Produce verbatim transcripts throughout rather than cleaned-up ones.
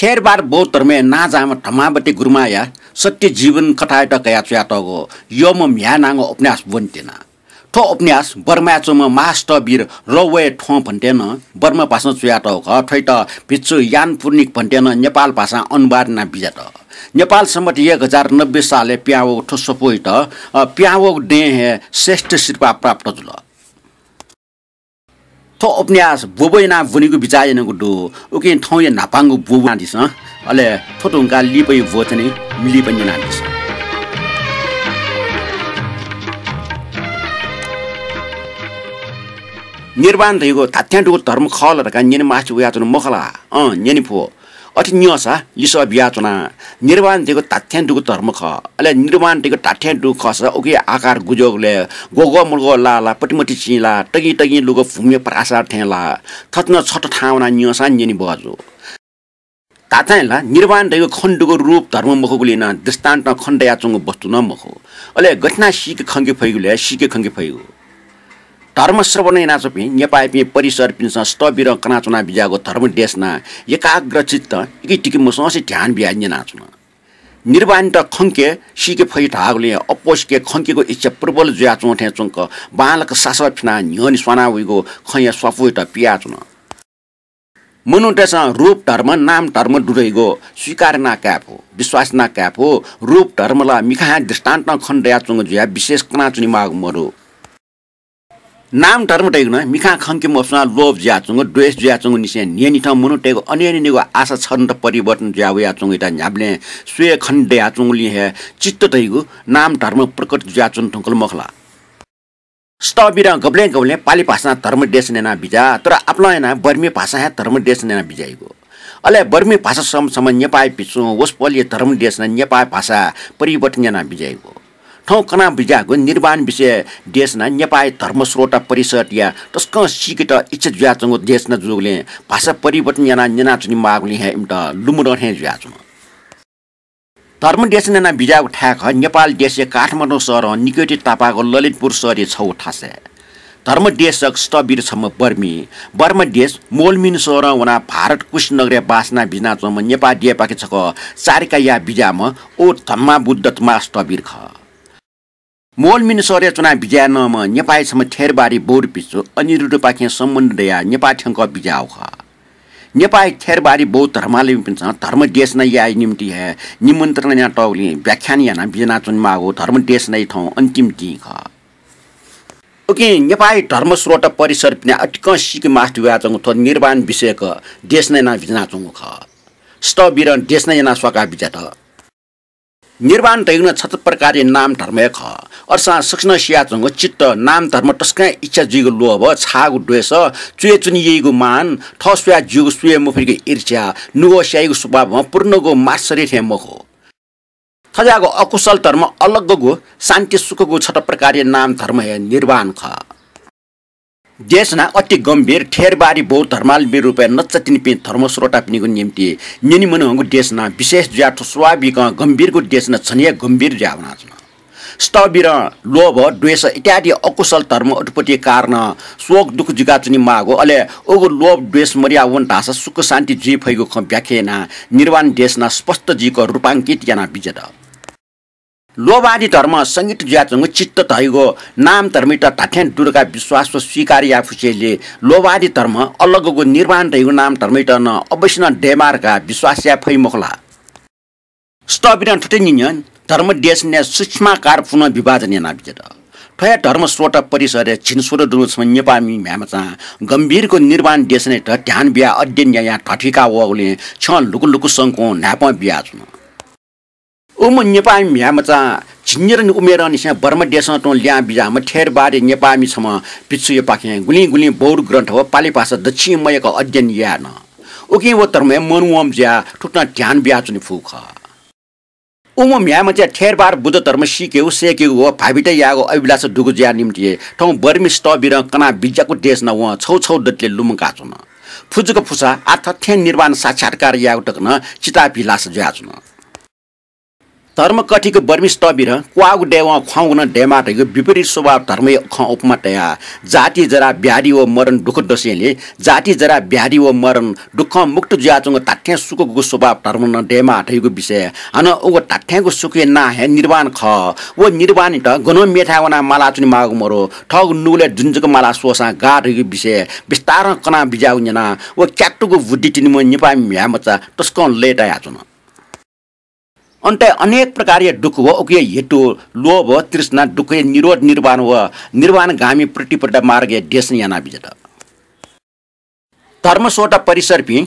थेरवाद बौद्ध धर्मय् नांजाःम्ह धम्मावती गुरुमांया सत्य जीवन कथायात कयाः च्वयातःगु यःम्ह म्ह्याय् नांगु उपन्यास ब्वने त्यना। थ्व उपन्यास बर्माय् च्वंम्ह महास्थविर रौवय् थ्वं भन्तेनं बर्मा भाषां च्वयातःगु खः। थ्वयात भिक्षु यान पुर्निक भन्तेनं नेपाल भाषां अनुवाद यानाः बिज्यात। नेपाल सम्बत एक हजार नब्बे सालय् पिहां वःगु थ्व सफूयात, अ, पिहां वःगु दँय् हे श्रेष्ठ सिरपाः प्राप्त जुल। थ्व उपन्यास ब्वब्व यानाः ब्वनेगु बिचाः यानागु दु। उकिं थौंया न्हापांगु ब्वब्व यानादिसँ। अले थ्व धुंकाः लिपाया ब्वचनय् लिपा न्यनादिसँ। निर्वाण धइगु धात्थें दुगु धर्म खः ला धकाः न्यने मास्ति वयाच्वने मखु ला? अँ, न्यने फु। अथे न्यंसा लिसः बियाच्वना। निर्वाण धइगु धात्थें दुगु धर्म खः। अले निर्वाण धइगु धात्थें दुगु खःसा उकिया आकार गुज्याःगु लय्, ग्वःग्वः मुर्गः लाः ला, पतिमति चिं ला, तगिं तगिं लुगः भूमिया प्रासाद थें ला? थथे नं छता थाहां वनाः न्यंसां न्यने बहःजू। धात्थें ला निर्वाण धइगु खने दुगु रूप धर्म मखुगुलिं नं दृष्टान्तं खने दयाच्वंगु वस्तु नं मखु। अले गथे यानाः सीके खंके फइगु लय् सीके खंके फइगु। धर्म श्रवण यानाच्वंपिं नेपाःयापिं परिसरपिन्सं स्थविरं कनाच्वना बिज्याःगु धर्म देशना एकाग्रचित्तं इकितिकि मसंसे ध्यान बियाः न्यनाच्वन। निर्वाणयात खंके सीके फइ धाःगुलिं अप्वःसिके खंकेगु इच्छा प्रबल जुयाच्वं थें च्वंक बांलाक सासः फिनाः न्ह्यःने स्वाना वइगु खँया स्वापूयात पियाच्वन। मनूतय्सं रूप धर्म, नाम धर्म दु धइगु स्वीकार याना काये फु, विश्वास याना काये फु। रूप धर्म ला मिखां हे दृष्टान्तं खने दयाच्वंगु जुयाः विशेष कनाच्वनेमाःगु मदु। नाम धर्म धइगु नं मिखां खंके मफुसां लोभ जुयाच्वंगु, द्वेष जुयाच्वंगु निसें न्हियान्हिथं मनूतय्गु अनेक अनेकगु आशा छन्त परिवर्तन जुया वयाच्वंगु इता न्ह्याबलें स्वये खने दयाच्वंगुलिं हे चित्त धइगु नाम धर्म प्रकट जुयाच्वने धुंकल मखु ला? स्थविरं गबलें गबलें पालि भाषां धर्म देशना याना बिज्या, तर आपालं यानाः बर्मी भाषां हे धर्म देशना याना बिज्याइगु। अले बर्मी भाषा सम सम नेपाःया भिक्षुं वसपोलया धर्म देशना नेपाःया भाषाय् परिवर्तन याना बिज्याइगु। थौं कना बिज्याःगु निर्वाण विषय देशना नेपाःया धर्म श्रोता परिषदया तसकं सीकेत इच्छा जुयाच्वंगु देशना जूगुलिं भाषा परिवर्तन यानाः न्यनाच्वनेमाःगुलिं हे इमित लुमधं थें जुयाच्वन। धर्म देशना याना बिज्याःगु थाय् खः नेपाल देशया काठमाडौं शहरं निकय्ति तापाःगु ललितपुर शहरया छगू थासय्। धर्म देशक स्थविर छम्ह बर्मी, बर्मा देश मोलमिन शहरं वनाः भारत कुशीनगरय् बास याना बिज्यानाच्वंम्ह नेपाः देय्‌पाखे छकः चारिका याः बिज्याःम्ह व धम्मावुद्ध महास्थविर खः। मोलमिन शहरय् च्वना बिज्याये नंम्ह नेपाःया छम्ह थेरवादी बौद्ध भिक्षु अनिरुद्धपाखें सम्बन्ध दयाः नेपाः थ्यंकः बिज्याःगु खः। नेपाःया थेरवादी बौद्ध धर्मावलम्बीपिन्सं धर्म देशना याये निम्तिं हे निमन्त्रणा यानातःगुलिं व्याख्यान यानाः बिज्यानाच्वनेमाःगु धर्म देशनाया थौं अन्तिम दिं खः। उकिं नेपाःया धर्म श्रोता परिषदपिन्त अतिकं सीके मास्ति वयाच्वंगु थ्व निर्वाण विषयक देशना यानाः बिज्यानाच्वंगु खः। स्थविरं देशना यानाः स्वाकाः बिज्यात। निर्वाण धइगु नं छता प्रकारया नाम धर्म हे खः। अथेसां सकसिनं सियाच्वंगु चित्त नाम धर्म तसकं इच्छा जुइगु लोभ, छाःगु द्वेष, च्वय् च्वने यइगु मान, थः स्वयाः ज्यूगु स्वये मफइगु ईर्ष्या, नुगः स्याइगु स्वभावं पूर्णगु मात्सर्य थें मखु। थज्याःगु अकुशल धर्म अलग्गगु शान्ति सुखगु छता प्रकारया नाम धर्म हे निर्वाण खः। देशना अति गम्भीर थेरवादी बौद्ध धर्मावलम्बी रूपय् नच्चा तिनिपिं धर्म श्रोतापिनिगु निम्तिं न्यने मनूहंगु देशना विशेष जुयाः थ्व स्वाभाविकं गम्भीरगु देशना झन हे गम्भीर जुयाः वनाच्वन। स्थविरं लोभ, द्वेष इत्यादि अकुशल धर्म उत्पत्ति कारणं शोक दुःख जुयाच्वनेमाःगु, अले उगु लोभ द्वेष मदया वन धाःसा सुख शान्ति जुइ फइगु खँ व्याख्या यानाः निर्वाण देशना स्पष्ट जुइक रूपाङ्कित यानाः बिज्यात। लोभादि धर्म संयत जुयाच्वंगु चित्त धइगु नाम धर्मयात धात्थें दु धकाः विश्वास व स्वीकार याये फुसेंलि लोभादि धर्म अलग्गगु निर्वाण धइगु नाम धर्मयात नं अवश्य नं दयेमाः धकाः विश्वास याये फइ मखु ला? स्थविरं थथे न्यन्यं धर्म देशनाया सूक्ष्माकार पुनः विभाजन यानाः बिज्यात। थ्व हे धर्म श्रोता परिषदय् झिंस्वदँ दुगु छम्ह नेपाःमि म्ह्याय्मचां गम्भीरगु निर्वाण देशनायात ध्यान बियाः अध्ययन यायां ध्वाथुइका वःगुलिं छ्यं लुकु लुकु संकुं न्हाय्पं बियाच्वन। उम्ह नेपाःमि म्ह्याय्मचां झिंन्यादँ उमेरंनिसें बर्मा देशं तुं लिहां बिज्याःम्ह थेरवादी नेपाःमि छम्ह भिक्षुयापाखें गुलिं गुलिं बौद्ध ग्रन्थ व पालि भाषा दच्छि मयय्क अध्ययन याये नं। उकिं व धर्मय् मनवंम्ह जुयाः थुकथं ध्यान बियाच्वने फुगु खः। उम्ह म्ह्याय्मचाया थेरवाद बुद्ध धर्म सीकेगु, सय्‌केगु व भावित यायेगु अभिलाषा दुगु जुया निम्तिं थौं बर्मी स्थविरं कना बिज्याकू देशना वं छगू छगू दतले लुमंकाच्वन। फुज्जुक फुसा आः थथें निर्वाण साक्षात्कार यायेगु तक नं चिताभिलाष जुयाच्वन। धर्मकथिक बर्मी स्थविरं क्वाःगु दयेवं ख्वाउँगु नं दयेमाः धइगु विपरीत स्वभाव धर्मया खँ उपमा तयाः जाति जरा व्याधि व मरण दुःख दसेंलि जाति जरा व्याधि व मरण दुःखं मुक्त जुयाच्वंगु धात्थें सुखगु स्वभाव धर्म नं दयेमाः धइगु विषय। हानं उगु धात्थेंगु सुखया नां हे निर्वाण खः। व निर्वाणयात गनं मेथाय् वनाः मालाच्वनेमाःगु मरु, थःगु नुगलय् दुने जक माला स्वःसां गाः धइगु विषय बिस्तारं कना बिज्याःगु न्यनाः व क्यातुगु बुद्धि तिनिम्ह नेपाःमि म्ह्याय्मचा तसकं लय्तायाच्वन। अन्तय् अनेक प्रकारया दुःख व उकिया हेतु लोभ, तृष्णा, दुःखया निरोध, निर्वाण व निर्वाणगामी प्रतिपदा मार्गया देशना याना बिज्यात। धर्मस्रोता परिसरपिं,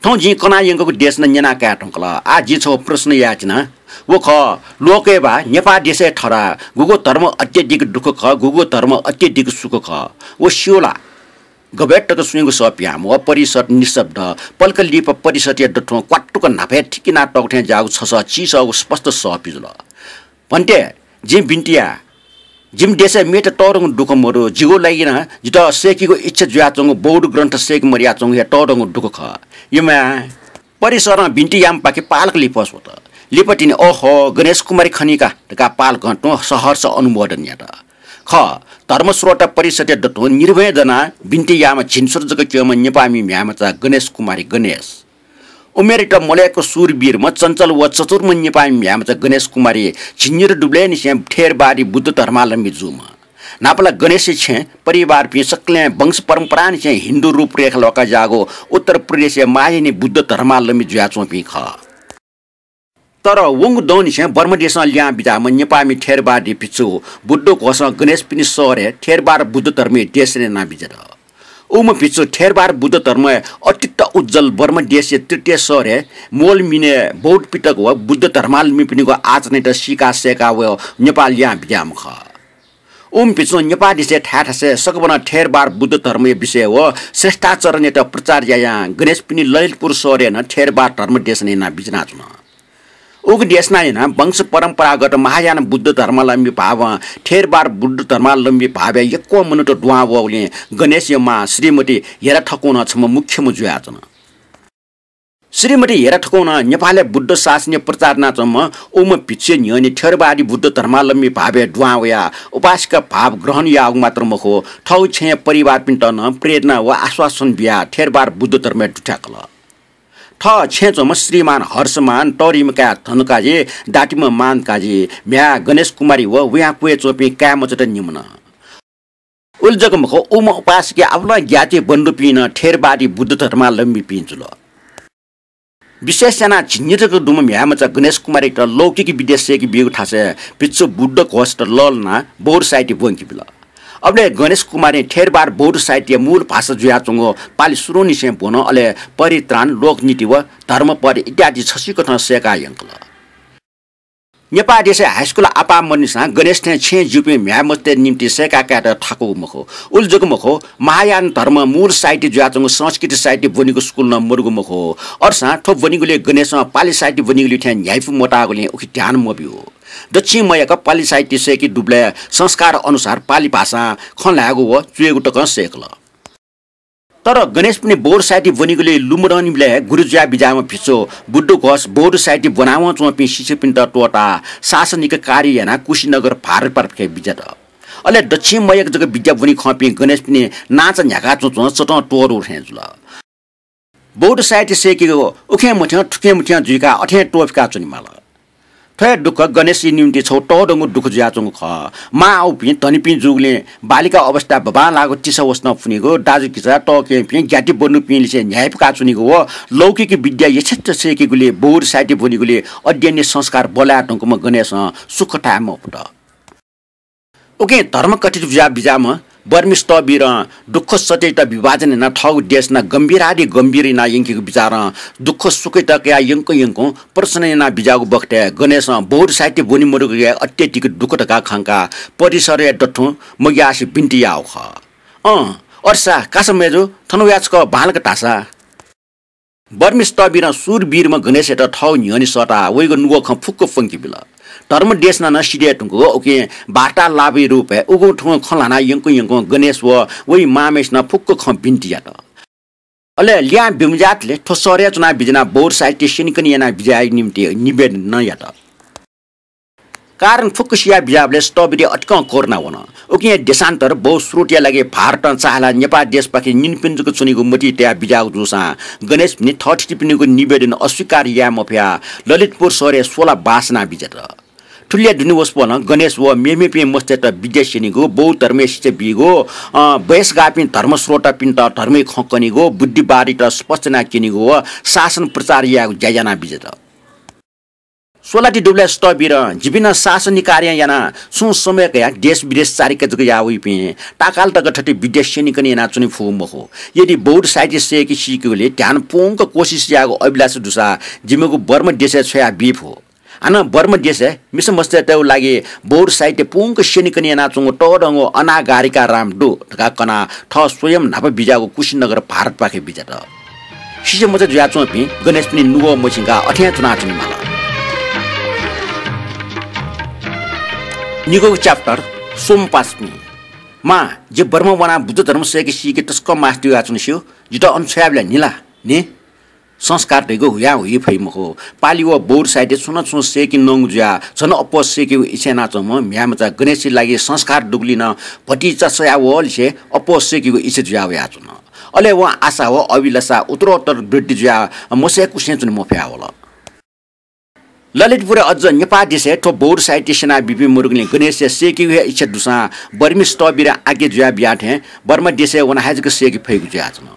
थौं जिं कना यंकूगु देशना न्यना काये धुंकल। आः जिं छगू प्रश्न याये च्यना। व खः, लोकय् वा नेपाः देशय् थरा गुगु धर्म अत्यधिक दुःख खः, गुगु धर्म अत्यधिक सुख खः, व स्यू ला? गबय् तक स्वयेगु सः पिहां मवः। परिषद् निशब्द। पलख लिपा परिषद्या दथुं क्वातुक न्हापाय् थिकिना तःगु थें ज्याःगु छसः चिसःगु स्पष्ट सः पिजुल। भन्ते, जिं बिन्ति याये। जिमि देशय् मेत तःधंगु दुःख मदु। जिगु लागि नं जितः सय्केगु इच्छा जुयाच्वंगु बौद्ध ग्रन्थ सय्के मदयाच्वंगु हे तःधंगु दुःख खः। यम्ह परिषदं बिन्ति याःम्हपाखे पालक लिपा स्वत। लिपा तिनि, "ओहो, गणेश कुमारी खनी का" धकाः पालकं तुं सहर्ष अनुमोदन यात। खः, धर्मस्रोता परिषदया दथुं निर्भय दनाः बिन्ति याःम्ह झिंस्वदँ जक क्यंम्ह नेपाःमि म्ह्याय्मचा गणेश कुमारी गणेश। उमेरयात मल्वय्क शूरवीरम्ह चञ्चल व चतुरम्ह नेपाःमि म्ह्याय्मचा गणेश कुमारी झिंनिदँ दुबलय्निसें थेरवादी बुद्ध धर्मावलम्बी जूम्ह। न्हापा ला गणेशया छेँ परिवारपिं सकलें वंश परम्परांनिसें हिन्दू रूपरेखा ल्वाका ज्याःगु उत्तर प्रदेशया महायानी बुद्ध धर्मावलम्बी जुयाच्वंपिं खः। तर वंगु दौंनिसें बर्मा देशं लिहां बिज्याःम्ह नेपाःमि थेरवादी भिक्षु बुद्ध घोषं गणेशपिनि शहरय् थेरवाद बुद्ध धर्मया देशना याना बिज्यात। उम्ह भिक्षु थेरवाद बुद्ध धर्मया अतीत उज्ज्वल बर्मा देशया तृतीय शहरय् मोल मिनय् बौद्ध पिटक व बुद्ध धर्मावलम्बीपिनिगु आचरणयात सीका सय्का वयाः नेपाः लिहां बिज्याःम्ह खः। उम्ह भिक्षुं नेपाः देशय् थाय् थासय् सकभनं थेरवाद बुद्ध धर्मया विषय व श्रेष्ठाचरणयात प्रचार यायां गणेशपिनि ललितपुर शहरय् नं थेरवाद धर्म देशना याना बिज्यानाच्वन। उगु देशना यानाः वंश परम्परागत महायान बुद्ध धर्मावलम्बी भावं थेरवाद बुद्ध धर्मावलम्बी भावया यक्व मनूत दुहां वःगुलिं गणेशया मां श्रीमती हेरा थकुं नं छम्ह मुख्यम्ह जुयाच्वन। श्रीमती हेरा थकुं नं नेपालय् बुद्ध शासनया प्रचार यानाच्वंम्ह उम्ह भिक्षुया न्ह्यःने थेरवादी बुद्ध धर्मावलम्बी भावय् दुहां वयाः उपासिका भाव ग्रहण याःगु मात्र मखु, थःगु छेँया परिवारपिन्त नं प्रेरणा व आश्वासन बियाः थेरवाद बुद्ध धर्मय् दुथ्याकल। थः छेँय् च्वंम्ह श्रीमान हर्षमान, तःधिम्ह काय् धनकाजी, दातिम्ह मानकाजी, म्ह्याय् गणेश कुमारी व वयां क्वय् च्वंपिं काय् मचात निम्ह नं। उलि जक मखु, उम्ह उपासिका आपालं ज्ञाति बन्धुपिं नं थेरवादी बुद्ध धर्मावलम्बीपिं जुल। विशेष यानाः झिंनिदँ जक दुम्ह म्ह्याय्मचा गणेश कुमारीयात लौकिक विद्या सय्के बीगु थासय् भिक्षु बुद्ध घोषयात लःल्हानाः बौद्ध साहित्य ब्वंके बिल। अबलय् गणेश कुमारीं थेरवाद बौद्ध साहित्यया मूल भाषा जुयाच्वंगु पालि सुरुंनिसें ब्वन, अले परित्राण, लोकनीति व धर्मपद इत्यादि छसिकथं सय्काः यंकल। नेपाः देशय् हाइस्कुल आपाः मदुनिसां गणेश थें छेँय् जूपिं म्ह्याय्मचातय् निंतिं सय्का कायेत थाकूगु मखु। उलि जक मखु, महायान धर्म मूल साहित्य जुयाच्वंगु संस्कृत साहित्य ब्वनीगु स्कुल नं मदुगु मखु। अथेसां थ्व ब्वनीगुलिइ गणेशं पालि साहित्य ब्वनीगुलिइ थें न्ह्याइपु मताःगुलिं उकी ध्यान मब्यू। दच्छि मय्क पालि साहित्य सय्के दुबलय् संस्कार अनुसार पालि भाषां खँ ल्हायेगु व च्वयेगु तकं सय्कल। तर गणेशपिनि बौद्ध साहित्य ब्वनीगुलिइ लुमधंनिबलय् गुरु जुयाः बिज्याःम्ह भिक्षु बुद्ध घोष बौद्ध साहित्य ब्वनावं च्वंपिं शिष्यपिन्त त्वःताः शासनिक कार्य यानाः कुशीनगर भारत पारपाखे बिज्यात। अले दच्छि मय्क जक विद्या ब्वनी खंपिं गणेशपिनि नांचा न्ह्याका च्वंच्वं चतं त्वःदु थें जुल। बौद्ध साहित्य सय्केगु उखें मथ्यं थुखें मथ्यं जुइकाः अथें त्वःफिका च्वनेमाल। थ्व हे दुःख गणेशया निंतिं छगू तःधंगु दुःख जुयाच्वंगु खः। मां आउपिं धनीपिं जूगुलिं बालिका अवस्था बबांलाःगु तिसा वसनं पुनीगु, दाजुकिजा तःकेहेँपिं ज्ञाति बन्धुपिंलिसे न्ह्याइपुका च्वनीगु व लौकिक विद्या यथेच्छ सय्केगुलिइ बौद्ध साहित्य ब्वनीगुलिइ अध्ययनया संस्कार बल्लाये धुंकूम्ह गणेशं सुख थाये मफुत। उकिं धर्मकथित जुयाः बिज्याःम्ह बर्मी स्थविरं दुःख सत्ययात विभाजन यानाः थःगु देशना गम्भीरादि गम्भीर यानाः यंकेगु विचारं दुःख सुखयात कयाः यंकं यंकं प्रश्न यानाः बिज्याःगु बखतय् गणेशं बौद्ध साहित्य ब्वने मदुगु हे अत्यधिक दुःख धकाः खंकाः परिषदया दथुं मग्यासे बिन्ति याःगु खः। अँ, अथे सा, कासा मय्जु, थन वयाः छकः बांलाक धाःसा। बर्मी स्थविरं शूरवीरम्ह गणेशयात थःगु न्ह्यःने सःताः वइगु नुगः खँ फुक्क प्वंके बिल। धर्म देशना नं सिधये धुंकूगु उकिं वार्तालापया रूपय् उगुं थुगुं खँ ल्हानाः यंकं यंकं गणेश व वइ मांम्हेसिनं फुक्क खँ बिन्ति यात। अले लिहां बिमज्यातले थ्व शहरय् च्वनाः बिज्यानाः बौद्ध साहित्य स्यनेकने यानाः बिज्यायेगु निंतिं निवेदन नं यात। कारण फुक्क सिया बिजाबलय् स्थविरया अतिकं करुणा वन। उकिं देशान्तर बहुस्रोतया लागि भारतं चाःहिलाः नेपाः देशपाखे निन्पिन्जुक च्वनीगु मतिइ तया बिजाःगु जूसां गणेशपिनि थःथितिपिनिगु निवेदन अस्वीकार याये मफयाः ललितपुर शहरय् स्वला बासना बिज्यात। थुलिया दुने वसपोलं गणेश व मेमेपिं मस्तय्त विद्या स्यनीगु, बौद्ध धर्मय् शिक्षा बीगु, अ, बयसगाःपिं धर्मस्रोतापिन्त धर्मय् खँ कनीगु, बुद्धिवादीत स्पष्ट याना क्यनीगु व शासन प्रचार यायेगु ज्या याना बिज्यात। स्वलाति दुबलय् स्थविरं जिपिं नं शासनिक कार्य यानाः छुं समय कयाः देश विदेश चारिका जक याः वइपिं ताकाल तक थथे विद्या स्यनीकने यानाच्वने फुगु मखु। यदि बौद्ध साहित्य सय्के सीकेगुलि ध्यान पूवंक कोसिस यायेगु अभिलाषा दुसा जिमिगु बर्मा देशय् छ्वया बी फु। हानं बर्मा देशय् मिसा मस्तय्तय्गु लागि बौद्ध साहित्य पूवंक स्यनीकने यानाच्वंगु तःधंगु अनागारिका राम दु धकाः कनाः थः स्वयं न्हापा बिज्याःगु कुशीनगर भारतपाखे बिज्यात। शिशुमचा जुयाच्वंपिं गणेशपिनि नुगः मछिंकाः अथें च्वनाच्वने माल। निगूगु chapter, स्वम्ह पासापिं। मां, जि बर्मा वनाः बुद्ध धर्म सय्के सीके तसकं मास्ति वयाच्वना स्यू, जितः अन छ्वयाबिल नि ला? नि? संस्कार धइगु हुयां हुइ फइ मखु। पालि व बौद्ध साहित्य छुं न छुं सय्के नंगु जुयाः झन अप्वः सय्केगु इच्छा यानाच्वंम्ह म्ह्याय्मचा गणेशया लागि संस्कार दुगुलिं नं भतिचा सयाः वःलिसे अप्वः सय्केगु इच्छा जुयाः वयाच्वन। अले वं आशा व अभिलाषा उत्तरोत्तर वृद्धि जुयाः मसय्कुसें च्वने मफया वल। ललितपुरय् अझ नेपाः देशय् थ्व बौद्ध साहित्य स्यना बीपिं मदुगुलिं गणेशया सय्केगु हे इच्छा दुसां बर्मी स्थविरं आज्ञा जुया बिया थें बर्मा देशय् वनाः हे जक सय्के फइगु जुयाच्वन।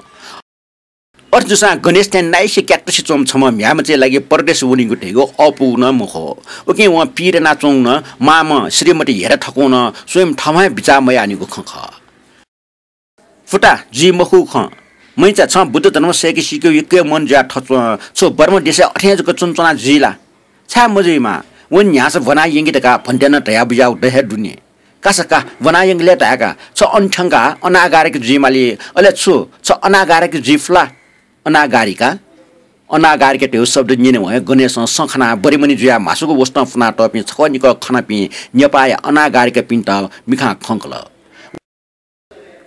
अथे जूसां गणेश थें नाइसे क्याक्कसे च्वंम्ह छम्ह म्ह्याय्मचाया लागि परदेश वनीगु धइगु अःपुगु नं मखु। उकिं वं पीर यानाच्वंगु नं मांम्ह श्रीमती हेरा थकूं नं स्वयं थःम्हं हे बिचाः मयाःनिगु खँ खः। फुता, जुइ मखुगु खँ। मैचा, छं बुद्ध धर्म सय्के सीकेगु यक्व हे मन जुयाः थच्वं। छु बर्मा देशय् अथें जक च्वनाच्वना जुइ ला? छाय् मजुइमा? वं न्ह्यासः ब्वना यंके धकाः भन्ते नं धया बुज्याःगु द हे दु नि। कासा का, ब्वना यंके लय् धाय्का, छ अन थ्यंकाः अनागारिका जुइ माली। अले छु, छ अनागारिका जुइ फु ला? अनागारिका? अनागारिका धयागु शब्द न्यनेवं हे गणेशं सँ खनाः बरिमनि जुयाः म्हासुगु वसतं फ्वनातःपिं छकः निकः खनापिं नेपाःया अनागारिकापिन्त मिखां खंकल।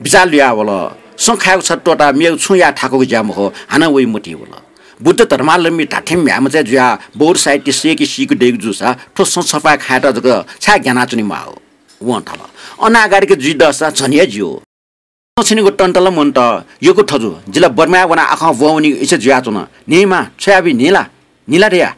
बिचाः लुया वल। सँ खायेगु छता त्वःताः मेगु छुं याये थाकुगु ज्या मखु, हानं वइ मतिइ वल। बुद्ध धर्मावलम्बी धात्थें म्ह्याय्मचा जुयाः बौद्ध साहित्य सय्के सीके दइगु जूसा थ्व सँ छपाः खायेत जक छाय् ग्यानाच्वने माः? वं धाल, अनागारिका जुइ दःसा झन हे ज्यू। सँ छ्यनीगु तन्त ला मन्त, यक्व थजु। जि ला बर्माय् वनाः आखः ब्वं वनीगु इच्छा जुयाच्वन। न्हिं मां, छ्वयाबी न्हिं ला? न्हिं ला धया।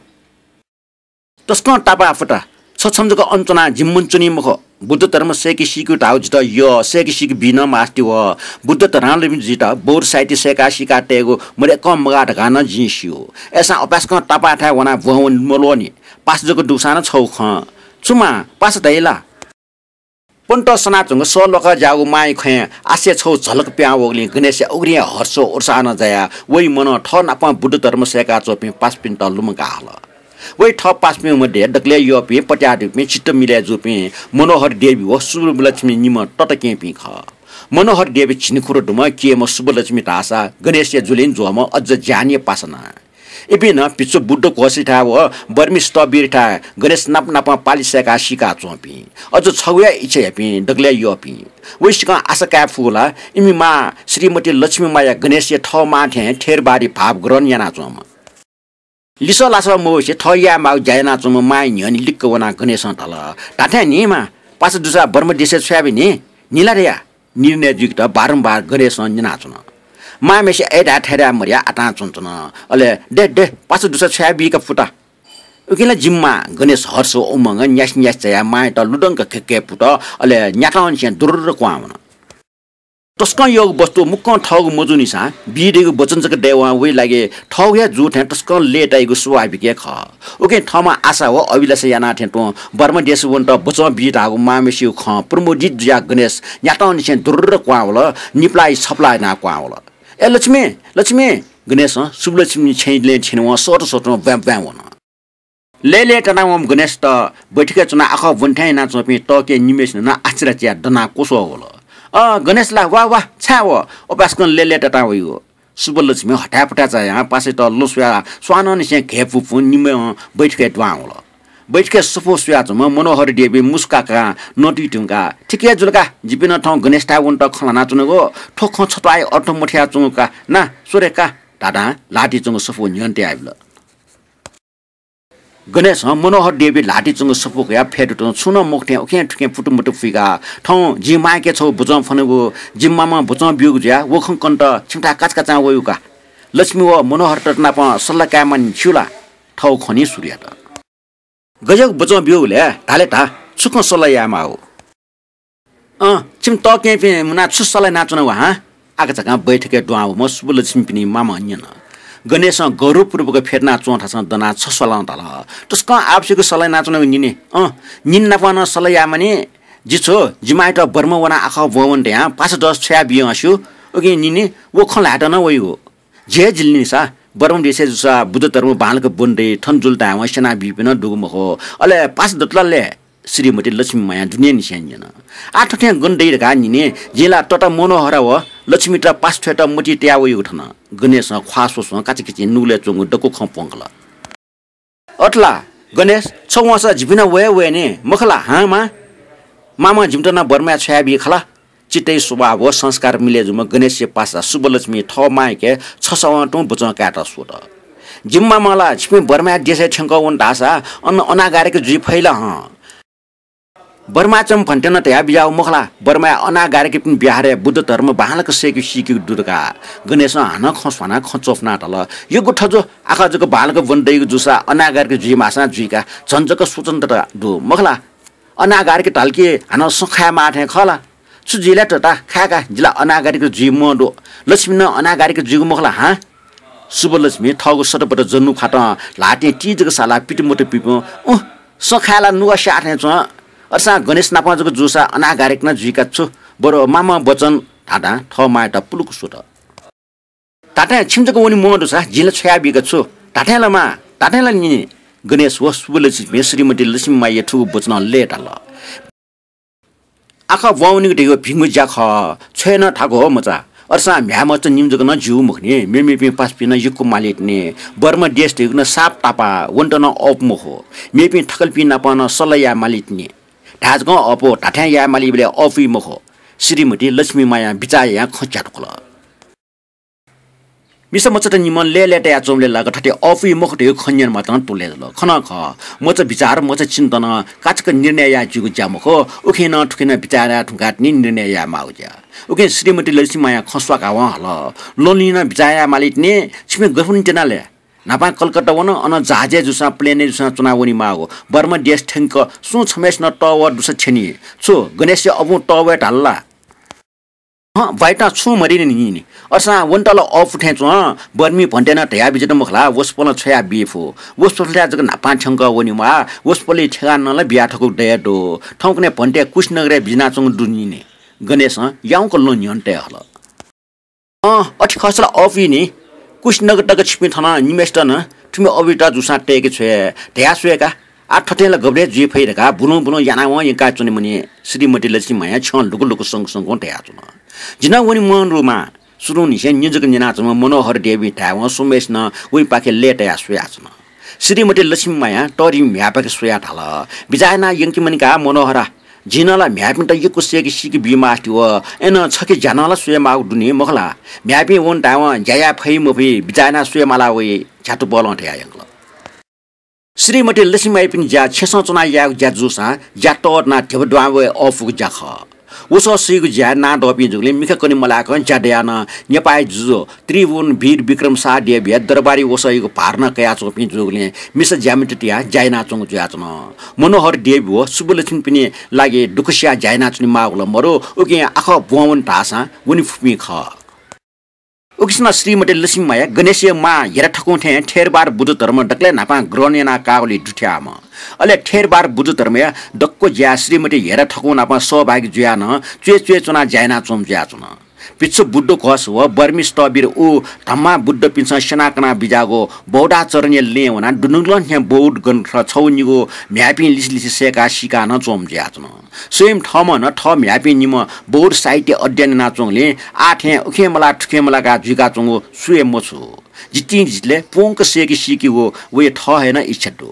तसकं तापाः फुता, छ छम्ह जक अन च्वनाः जिमि मन च्वनी मखु। बुद्ध धर्म सय्के सीकेगु धाःगु जितः यः, सय्के सीके बी नं मास्ति वः। बुद्ध धर्मावलम्बी जुइत बौद्ध साहित्य सय्काः सीकाः तयेगु मदय्कं मगाः धकाः नं जिं स्यू। अय्सां अपाय्सकं तापाःथाय् वनाः ब्वं वने मल्वःनि। पासा जक दुसां नं छगू खँ। छु मां, पासा दइ ला? पन्त सनाच्वंगु सः ल्वाकाः ज्याःगु मांया खँय् आशाया छगू झलक पिहां वःगुलिं गणेशया उघ्रिं हे हर्ष व उत्साह नं जायाः वइ मनं थः नापं बुद्ध धर्म सय्काच्वंपिं पासापिन्त लुमंकाः हल। वइ थः पासापिं मध्ये दकलय् यःपिं, पत्याः दुपिं, चित्त मिलय् जूपिं मनोहर देवी व सुब्बलक्ष्मी निम्ह तताकेहेँपिं खः। मनोहर देवी झिंखुदँ दुम्ह, केहेँम्ह, सुब्बलक्ष्मी धाःसा गणेशया जुलिं ज्वःम्ह अझ ज्यानया पासा नं। इपिं नं भिक्षु बुद्ध घोषयाथाय् व बर्मी स्थविरयाथाय् गणेश नाप नापं पालि सय्काः सीकाच्वंपिं, अझ छगू हे इच्छा याःपिं, दकलय् यःपिं। वइसिकं आशा काये फुगु ला, इमि मां श्रीमती लक्ष्मी माया गणेशया थः मां थें थेरवादी भाव ग्रहण यानाच्वंम्ह। लिसः लासः मवइसे थः याये माःगु ज्या यानाच्वंम्ह मांया न्ह्यःने लिक्क वनाः गणेशं धाल, धात्थें न्हिं मां, पासा दुसा बर्मा देशय् छ्वयाबी न्हिं, न्हिं ला धया। निर्णय जुइकेत बारम्बार गणेशं न्यनाच्वन। मांम्हेसे अय्धाये थय्धाये मदयाः आतां च्वनाच्वन। अले दे, दे, पासा दुसा छ्वयाबीका फुता। उकिं ला जिमि मां। गणेश हर्ष व उमंगं न्यासि न्यासि झायाः मांयात लुधंक खेक्के पुत, अले न्यातंनिसें दुर्र क्वहां वन। तसकं यःगु वस्तु मुक्कं थःगु मजूनिसां बी धइगु वचन जक दयेवं वइ लागि थःगु हे जू थें तसकं लय्ताइगु स्वाभाविक हे खः। उकिं थःम्हं आशा व अभिलाषा याना थें तुं बर्मा देश वनेत वचं बी धाःगु मांम्हेसिगु खँ प्रमुदित जुयाः गणेश न्यातंनिसें दुर्र क्वहां वल, निपलाः छपलाः यानाः क्वहां वल। ए लक्ष्मी, लक्ष्मी! गणेशं सुब्बलक्ष्मी छेँय् लँय् थ्यनेवं सःत सःतं ब्वाँय् ब्वाँय् वन। लय् लय्तानावंम्ह गणेशत बैठकय् च्वनाः आखः ब्वने थें यानाच्वंपिं तताकेहेँ निम्हय्सिनं नं आश्चर्य जुयाः दनाः क्वस्वः वल। अ, गणेश ला, वा, वा, छाय् व? अपाय्सकं लय् लय्तानावइगु। सुब्बलक्ष्मी हताय् पुताय् झायां पासायात लँस्वयाः स्वानंनिसें घय्पुपुं निम्हं बैठकय् दुहां वल। बैठकय् सफू स्वयाच्वंम्ह मनोहर देवीं मुसुकाकां नतुइ धुंकाः, ठीक हे जुल का, जिपिं नं थौं गणेशथाय् वनेत खँ ल्हानाच्वनागु, थ्व खँ छत्वाःया अर्थ मथुयाच्वंगु का, ना, स्व रे का, धाधां ल्हातिच्वंगु सफू न्ह्यःने तयाबिल। गणेशं मनोहर देवया ल्हातिइ च्वंगु सफू कयाः फ्यतुं छुं नं मखु थें उखें थुखें पुटुमुटु फुइकाः, थौं जिं मांके छगू बुचं फ्वनागु, जिमि मामं बुचं ब्यूगु जुयाः व खँ कनेत छिमिथाय् काचाकाचां वयागु का। लक्ष्मी व मनोहरयात नापं सल्लाह कायेमानि छिगु ला? थःगु खँ नं सुरु यात। गज्याःगु बुचं ब्यूगु ले? धा ले धा, छु खँ सल्लाह यायेमाःगु? अँ, छिमि तःकेहेँपिं मुनाः छु सल्लाह यानाच्वनागु हँ? आकाझाकां बैठकय् दुहां वःम्ह सुब्बुलक्ष्मीपिनि मामं न्यन। गणेशं गौरवपूर्वक फ्यतुना च्वंथासं दनाः छस्वालं धाल, तसकं आवश्यक सल्लाह यानाच्वनागु निनि। अँ, निनि नापं नं सल्लाह यायेमानि। जि छु, जिमि मांयात बर्मा वनाः आखः ब्वं वने धयां पासा दस छ्वयाबियागु स्यू। उकिं निनि व खँ ल्हायेत नं वइगु। झी हे जिल नि सा, बर्मा देशय् जूसा बुद्ध धर्म बांलाक ब्वने दइ, थन जुल धायेवं स्यनाबीपिं नं दुगु मखु। अले पासा दत ला ले? श्रीमती लक्ष्मी मायां दुनेंनिसें न्यन। आः थथें गन दइ धकाः निनि, जिं ला तता मनोहरा व लक्ष्मीत पासा छ्वयेत मतिइ तया वयागु थन। गणेशं ख्वाः स्वस्वं काचाकिचिं नुगलय् च्वंगु दक्व खँ प्वंकल। अथे ला गणेश, छ वंसा जिपिं नं वये वये नि, मखु ला हँ मां? मामं जिमित नं बर्माय् छ्वयाबी खला। चित्तया स्वभाव व संस्कार मिले जूम्ह गणेशया पासा सुब्बुलक्ष्मी थः मांयाके छसवं तुं बुचं कायेत स्वत। जिमि मामं ला छिपिं बर्माया देशय् थ्यंकः वन धाःसा अन अनागारिक जुइ फइ ला हँ? बर्माय् च्वंम्ह भन्तें नं धयाबिज्याःगु मखु ला, बर्माय् अनागारिकपिनि ब्याहारय् बुद्ध धर्म बांलाक सय्के सीकेगु दु धकाः। गणेशं हानं खँ स्वानाः खँ च्वफुनाः धाल, यक्व थजु, आखः जक बांलाक ब्वने दइगु जूसा अनागारिक जुइमाःसां जुइका, झन जक स्वतन्त्रता दु मखु ला। अनागारिक धाल कि हानं सँ खायेमाः थें खः ला? छु जुइ ले तता, खाय्का, जि ला अनागारिक जुइ म्वाः दु। लक्ष्मी नं अनागारिक जुइगु मखु ला हँ? सुब्बुलक्ष्मी थःगु सतपत जन्नु फातं ल्हातिं ति जक सालाः पितुमुतु पिपुं, उँ, सँ खाये ला नुगः स्याः थें च्वं। अथेसां गणेश नापं जक जूसा अनागारिक नं जुइका छु, बरु मामं वचन धाधां थः मांयात पुलुक स्वत। धात्थें छिमि जक वने म्वाः दुसा जिं ला छ्वयाबीका छु। धात्थें ला मां, धात्थें ला निनि। गणेश व सुब्बुलक्ष्मीपिं श्रीमती लक्ष्मी माया थुगु वचनं लय्ताल। आखः ब्वं वनेगु धइगु भिंगु ज्या खः, छ्वये नं थाकु हो मचा। अथेसां म्ह्याय् मचा निम्ह जक नं ज्यू मखु नि, मेमेपिं पासापिं नं यक्व माली तिनि। बर्मा देश धइगु नं साप तापाः, वनेत नं अःपु मखु। मेपिं थकालिपिं नाप नं सल्लाह याये माली तिनि। धाये जकं अःपु, धात्थें याये मालीबलय् अःपुइ मखु। श्रीमती लक्ष्मी मायां बिचाः यायां खँ च्यातुकल। मिसा मचात निम्हं लय् लय्तायाच्वंबलय् लाक थथे अःपुइ मखु धइगु खँ न्यनेमाःत नं त्वलय् जुल। खः नं खः, मचा बिचाः, मचा चिन्तनं काचाक्क निर्णय याये ज्यूगु ज्या मखु। उखें नं थुखें नं बिचाः याये धुंकाः तिनि निर्णय यायेमाःगु ज्या। उकिं श्रीमती लक्ष्मी मायां खँ स्वाकावं हल, ल्वंल्वंनं बिचाः याये माली तिनि। छिपिं गथे वने त्यना ले? न्हापां कलकत्ता वन, अन जहाजय् जूसां, प्लेनय् जूसां च्वना वनेमाःगु। बर्मा देश थ्यंक सुं छम्हय्सिनं तःवः दुसा थ्यनी। छु गणेशया अबुं तःवये धाल ला? हँ, बाय्तां छुं मदय् नि नि। अथेसां वनेत ला अःपु थें च्वं, बर्मी भन्तें नं धयाबिज्यात मखु ला, वसपोलं छ्वयाबी फु। वसपोलया जक न्हापां थ्यंकः वनेमाः, वसपोलया ठेगानं ला बिया थकूगु दये दु। थौंकन्हय् भन्ते कुशीनगरय् बिज्यानाच्वंगु दु नि नि। गणेशं याउँक ल्वहं न्ह्यःने तये हल। अँ, अथे खःसा ला अःपुइ नि। कुशीनगर तक छिपिं थन निम्हय्सित नं थुमि अबुयात जूसां तय्के छ्वये धयाः स्वये का। आः थथें ला गबलय् जुइ फइ धकाः बुलुं बुलुं यानावं यंकाच्वने मनि। श्रीमती लक्ष्मी मायां छ्यं लुकु लुकु संक संकं धयाच्वन। जि नं वने म्वाः दु मां। सुरुंनिसें निजक न्यनाच्वंम्ह मनोहर देवं धायेवं स्वम्हय्सिनं वइपाखे लय्तायाः स्वयाच्वन। श्रीमती लक्ष्मी मायां तःधिम्ह म्ह्याय्पाखे स्वयाः धाल, बिचाः यानाः यंके मनि का मनोहरा। जिं नं ला म्ह्याय्पिन्त यक्व सय्के सीके बीमास्ति व अय्नं छखे ज्या नं ला स्वयेमाःगु दु नि मखु ला। म्ह्याय्पिं वन धायेवं ज्या याये फइ मफइ बिचाः यानाः स्वये माला वइ, झ्यातुपलं धयाः यंकल। श्रीमती लक्ष्मी मायापिनि ज्या छेँसं च्वनाः यायेगु ज्या जूसां ज्या तःधनाः धिबा दुहां वये अःपुगु ज्या खः। वसः सइगु ज्याय् नां दःपिं जूगुलिं मिखा कने मलाकं ज्या दयाः नं नेपाःया जुजु त्रिभुवन वीर विक्रम शाहदेवया दरबारय् वसःयागु भार नं कयाच्वंपिं जूगुलिं मिसा ज्यामित तियाः ज्या यानाच्वंगु जुयाच्वन। मनोहर देव व सुब्बुलक्ष्मीपिनि लागि दुःख सियाः ज्या यानाच्वनेमाःगु ला मदु, उकिं आखः ब्वं वने धाःसां वने फुपिं खः। उकिसनं श्रीमती लक्ष्मी माया गणेशया मां हेरा थकुं थें थेरवाद बुद्ध धर्म दकलय् न्हापां ग्रहण यानाः काःगुलिइ दुथ्याःम्ह। अले थेरवाद बुद्ध धर्मया दक्व ज्याय् श्रीमती हेरा थकुं नाप सहभागी जुयाः नं च्वय् च्वय् च्वनाः ज्या यानाच्वंम्ह जुयाच्वन। भिक्षु बुद्ध घोष व बर्मी स्थविर उ धम्मा बुद्धपिन्सं स्यना कना बिज्याःगु बौद्धाचरणया लँय् वनाः दुनुगलं थें बौद्ध ग्रन्थ छगू निगू म्ह्याय्पिं लिसे लिसे सय्काः सीकाः नं च्वंम्ह जुयाच्वन। स्वयं थःम्हं नं थः म्ह्याय्पिं निम्ह बौद्ध साहित्य अध्ययन यानाच्वंगुलिं आः थें उखें मलाः थुखें मलाकाः जुइकाच्वंगु सुयां मछू। जितिं जितले प्वंक सय्के सीकेगु वया थः हे नं इच्छा दु।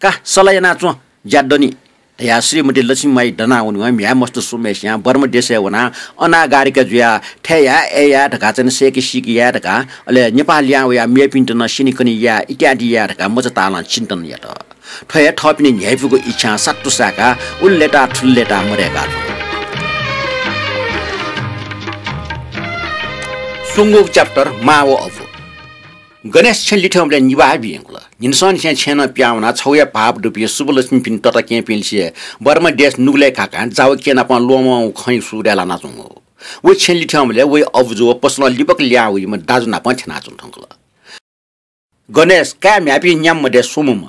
का, सल्लाह यानाच्वँ, ज्या दनि। धयाः श्रीमती लक्ष्मीमाई दनावनेवं म्ह्याय् मस्त स्वम्हय्सियां बर्मा देशय् वनाः अनागारिका जुयाः थय् याये, अय् याये धकाः चाहिँ सय्के सीके याये धकाः, अले नेपाः लिहां वयाः मेपिन्त नं स्यनेकने याये इत्यादि याये धकाः मचा तालं चिन्तन यात। थ्व हे थःपिनि न्ह्याइपुगु इच्छां सात्तु साय्काः उलि लय्ताः थुलि लय्ताः मदय्काः च्वन। स्वंगूगु chapter मां व अबु। गणेश छेँ लिथ्यंबलय् निभाः बियंकुल। न्हिनसंनिसें छेँनं पिहां वनाः छगू हे भाःपु दुपिं शुभलक्ष्मीपिनि तताकेहेँपिं लिसे बर्मा देश नुगलय् घाकां जावकि नाप ल्वःमं खँ सुरय् लानाच्वंगु। वइ छेँ लिथ्यंबलय् वइ अबुजु व पसलं लिपक लिहां वइम्ह दाजु नाप थ्यनाच्वन धुंकल। गणेश काय् म्ह्याय्पिं न्याम्ह मध्य स्वम्हम्ह,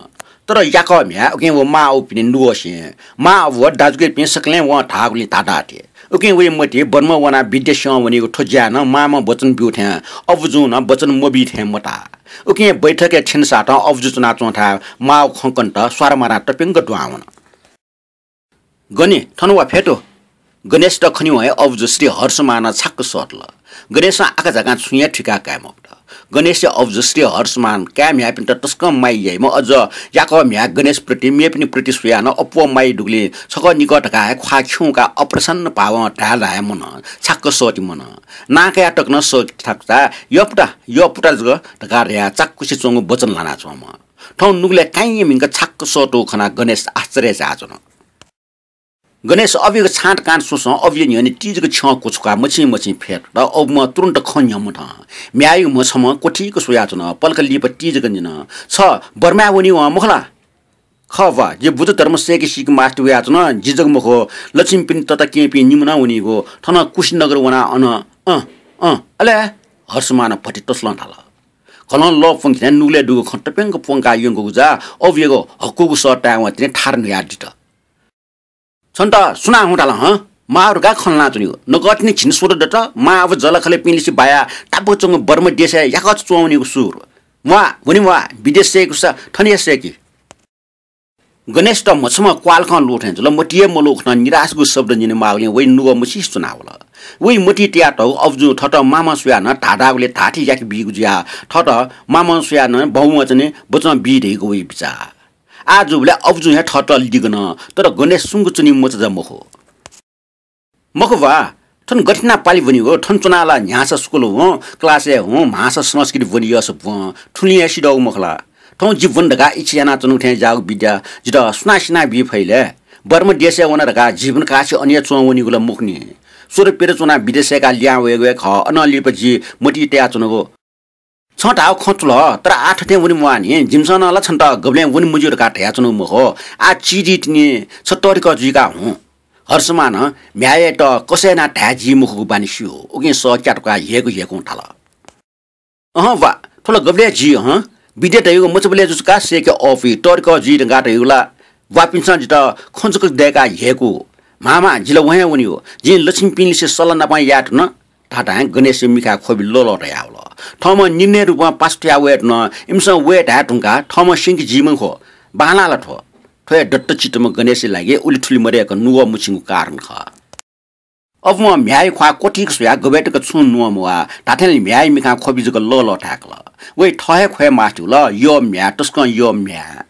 तर याकः म्ह्याय् उकिं व मां अबुपिनि नुगःसिं। मां अबु व दाजुकिजापिं सकलें वं धाःगुलिं धाधाः थें। उकिं वइ मतिइ बर्मा वनाः विद्या स्यं वनीगु थ्व ज्याय् नं मांम्ह वचन ब्यू थें अबुजुं नं वचन मबी थें मताः। उकिं बैठकय् थ्यनेसातं अबुजु च्वनाच्वंथाय् मांव खँ कनेत स्वारमारां तप्यंक दुहां वन। गने, थन वा, फ्यतु। गणेशयात खनेवं हे अबुजु श्री हर्षमानं छाक्क सःतल। गणेशं आखा झाकां छुं हे थुइका काये मफुत। गणेशया अबुजु श्री हर्षमान काय् म्ह्याय्पिन्त तसकं माया याइम्ह, अझ याकः म्ह्याय् गणेशप्रति मेपिनि प्रति स्वयाः नं अप्वः माया दुगुलिं छकः निकः धकाः हे ख्वाः खिउँकाः अप्रसन्न भावं धाये ला हे मनं, छाक्क सःति मनं। नां कयाः तक नं सःति थाकुसा, यःपुता, यःपुता जक धकाः धयाः चाकुसे च्वंगु वचन ल्हानाच्वंम्ह। थौं नुगलय् काइँया म्हिन्क छाक्क सःतूगु खनाः गणेश आश्चर्य झायाच्वन। गणेश अबुयागु छाँट काँट स्वसं अबुया न्ह्यःने तिजक छ्यं क्वछुकाः मछिं मछिं फ्यतुत। अबुम्ह तुरुन्त खँ न्ह्यंम्ह थें म्ह्याय्या म्ह छम्हं क्वथिक स्वयाच्वन। पलख लिपा तिजकं न्यन, छ बर्माय् वनीवं मखु ला? खः वा, जि बुद्ध धर्म सय्के सीके मास्ति वयाच्वन। जि जक मखु, लक्ष्मीपिनि तताकेहेँपिं निम्ह नं वनीगु। थन कुशीनगर वनाः अन, अँ, अँ, अले हर्षमानं भति तसलं धाल। कलं लः प्वंके थें नुगलय् दुगु खँ तप्यंक प्वंकाः यंकूगु जा अबुयागु हकूगु सः तायेवं तिनि थार न्हुयादित। छन्त सुनां हुँ धाल हँ? मां अबु धकाः खँ ल्हानाच्वनीगु। नकतिनि झिंस्वदँ दत, मां अबु जःलाखःलापिं लिसे बायाः तापाक च्वंगु बर्मा देशय् याकःचा च्वंवनीगु सुर। म्वाः, वने म्वाः, विदेश सय्कूसा थन हे सय्कि। गणेशयात म्ह छम्ह क्वाःलाखं लू थें जुल। मतिइ हे मलूगु खनाः निराशगु शब्द न्यनेमाःगुलिं वइ नुगः मछिंसे च्वनावल। वइ मतिइ तयातःगु अबुजुं थःत मामं स्वयाः नं धाधाःगुलिं धाःथें याके बीगु जुयाः थःत मामं स्वयाः नं बौवंचने बचं बी धइगु वइ बिचाः। आः जूबलय् अबुजुं हे थःत लिगन, तर गणेश सुम्क च्वनी मचा जा मखु। मखु वा, थन गथे यानाः पालि ब्वनीगु? थन च्वनाः ला न्ह्यासा स्कुल हुँ, क्लासय् हुँ, म्हासा संस्कृति ब्वने यःसा ब्वं, थुलिं हे सिधःगु मखु ला? थौं जि ब्वन धकाः इच्छा यानाच्वनागु थें ज्याःगु विद्या जितः सुनां सिना बी फइ ले? बर्मा देशय् वन धकाः जीवन काःछि अन हे च्वं वनीगु ला मखु नि। स्वदँ प्यदँ च्वनाः विदेश सय्काः लिहां वयेगु हे खः, अनं लिपा जि मतिइ तयाच्वनागु। छं धाःगु खँ थुल, तर आः थथें वने म्वाः नि। जिमिसं नं ला छन्त गबलें वने मज्यू धकाः धयाच्वनागु मखु। आः चिधीतिनि छ तःधिकः जुइका हुँ। हर्षमानं म्ह्याय्‌यात कसय् यानाः धाये जी मखुगु बानी स्यू। उकिं सः क्यातुकाः ह्यय्‌कू ह्यय्‌कुं धाल। अहँ वा, थ्व ला गबलें जी हँ। विद्या धइगु मचाबलय् जुसा का सय्‌के अःपुइ, तःधिकः जुइ धकाः धइगु ला ब्वाःपिन्सं जितः खँ जक दय्‌काः ह्यय्‌कू। म्हां म्हां, जि ला वहे वनीगु। जिं लक्ष्मीपिंलिसे सल्लाह नापं याये धुन। धाधां गणेशया मिखाय् ख्वबि लःल्वः तयावल। थःम्हं निर्णय रूपं पासा थुयाः वये धुन। इमिसं वये धाये धुंकाः थःम्हं स्यंके जी मखु। बांलाः ला थ्व? थ्व हे दत्तचित्तम्ह गणेशया लागि उलि थुलि मदय्‌क नुगः मछिंगु कारण खः। अबुं म्ह्याय्‌या ख्वाः क्वथिक स्वयाः गबय् तक छुं नुगः मवाः। धात्थें ला म्ह्याय्‌या मिखां ख्वबि जक लःल्वः थाय्‌कल। वइ थः हे ख्वये मास्ति वल, यःम्ह्याय्, तसकं यःम्ह्याय्।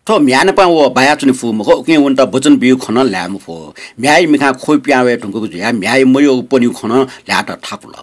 थ्व म्ह्याय् नाप व बायाच्वने फु मखु, उकिं वनेत वचन बीगु खँ नं ल्हाये मफु। म्ह्याय्‌या मिखां ख्वबि पिहां वये धुंकूगु जुयाः म्ह्याय् मयःगु पनिगु खँ नं ल्हायेत थाकुल।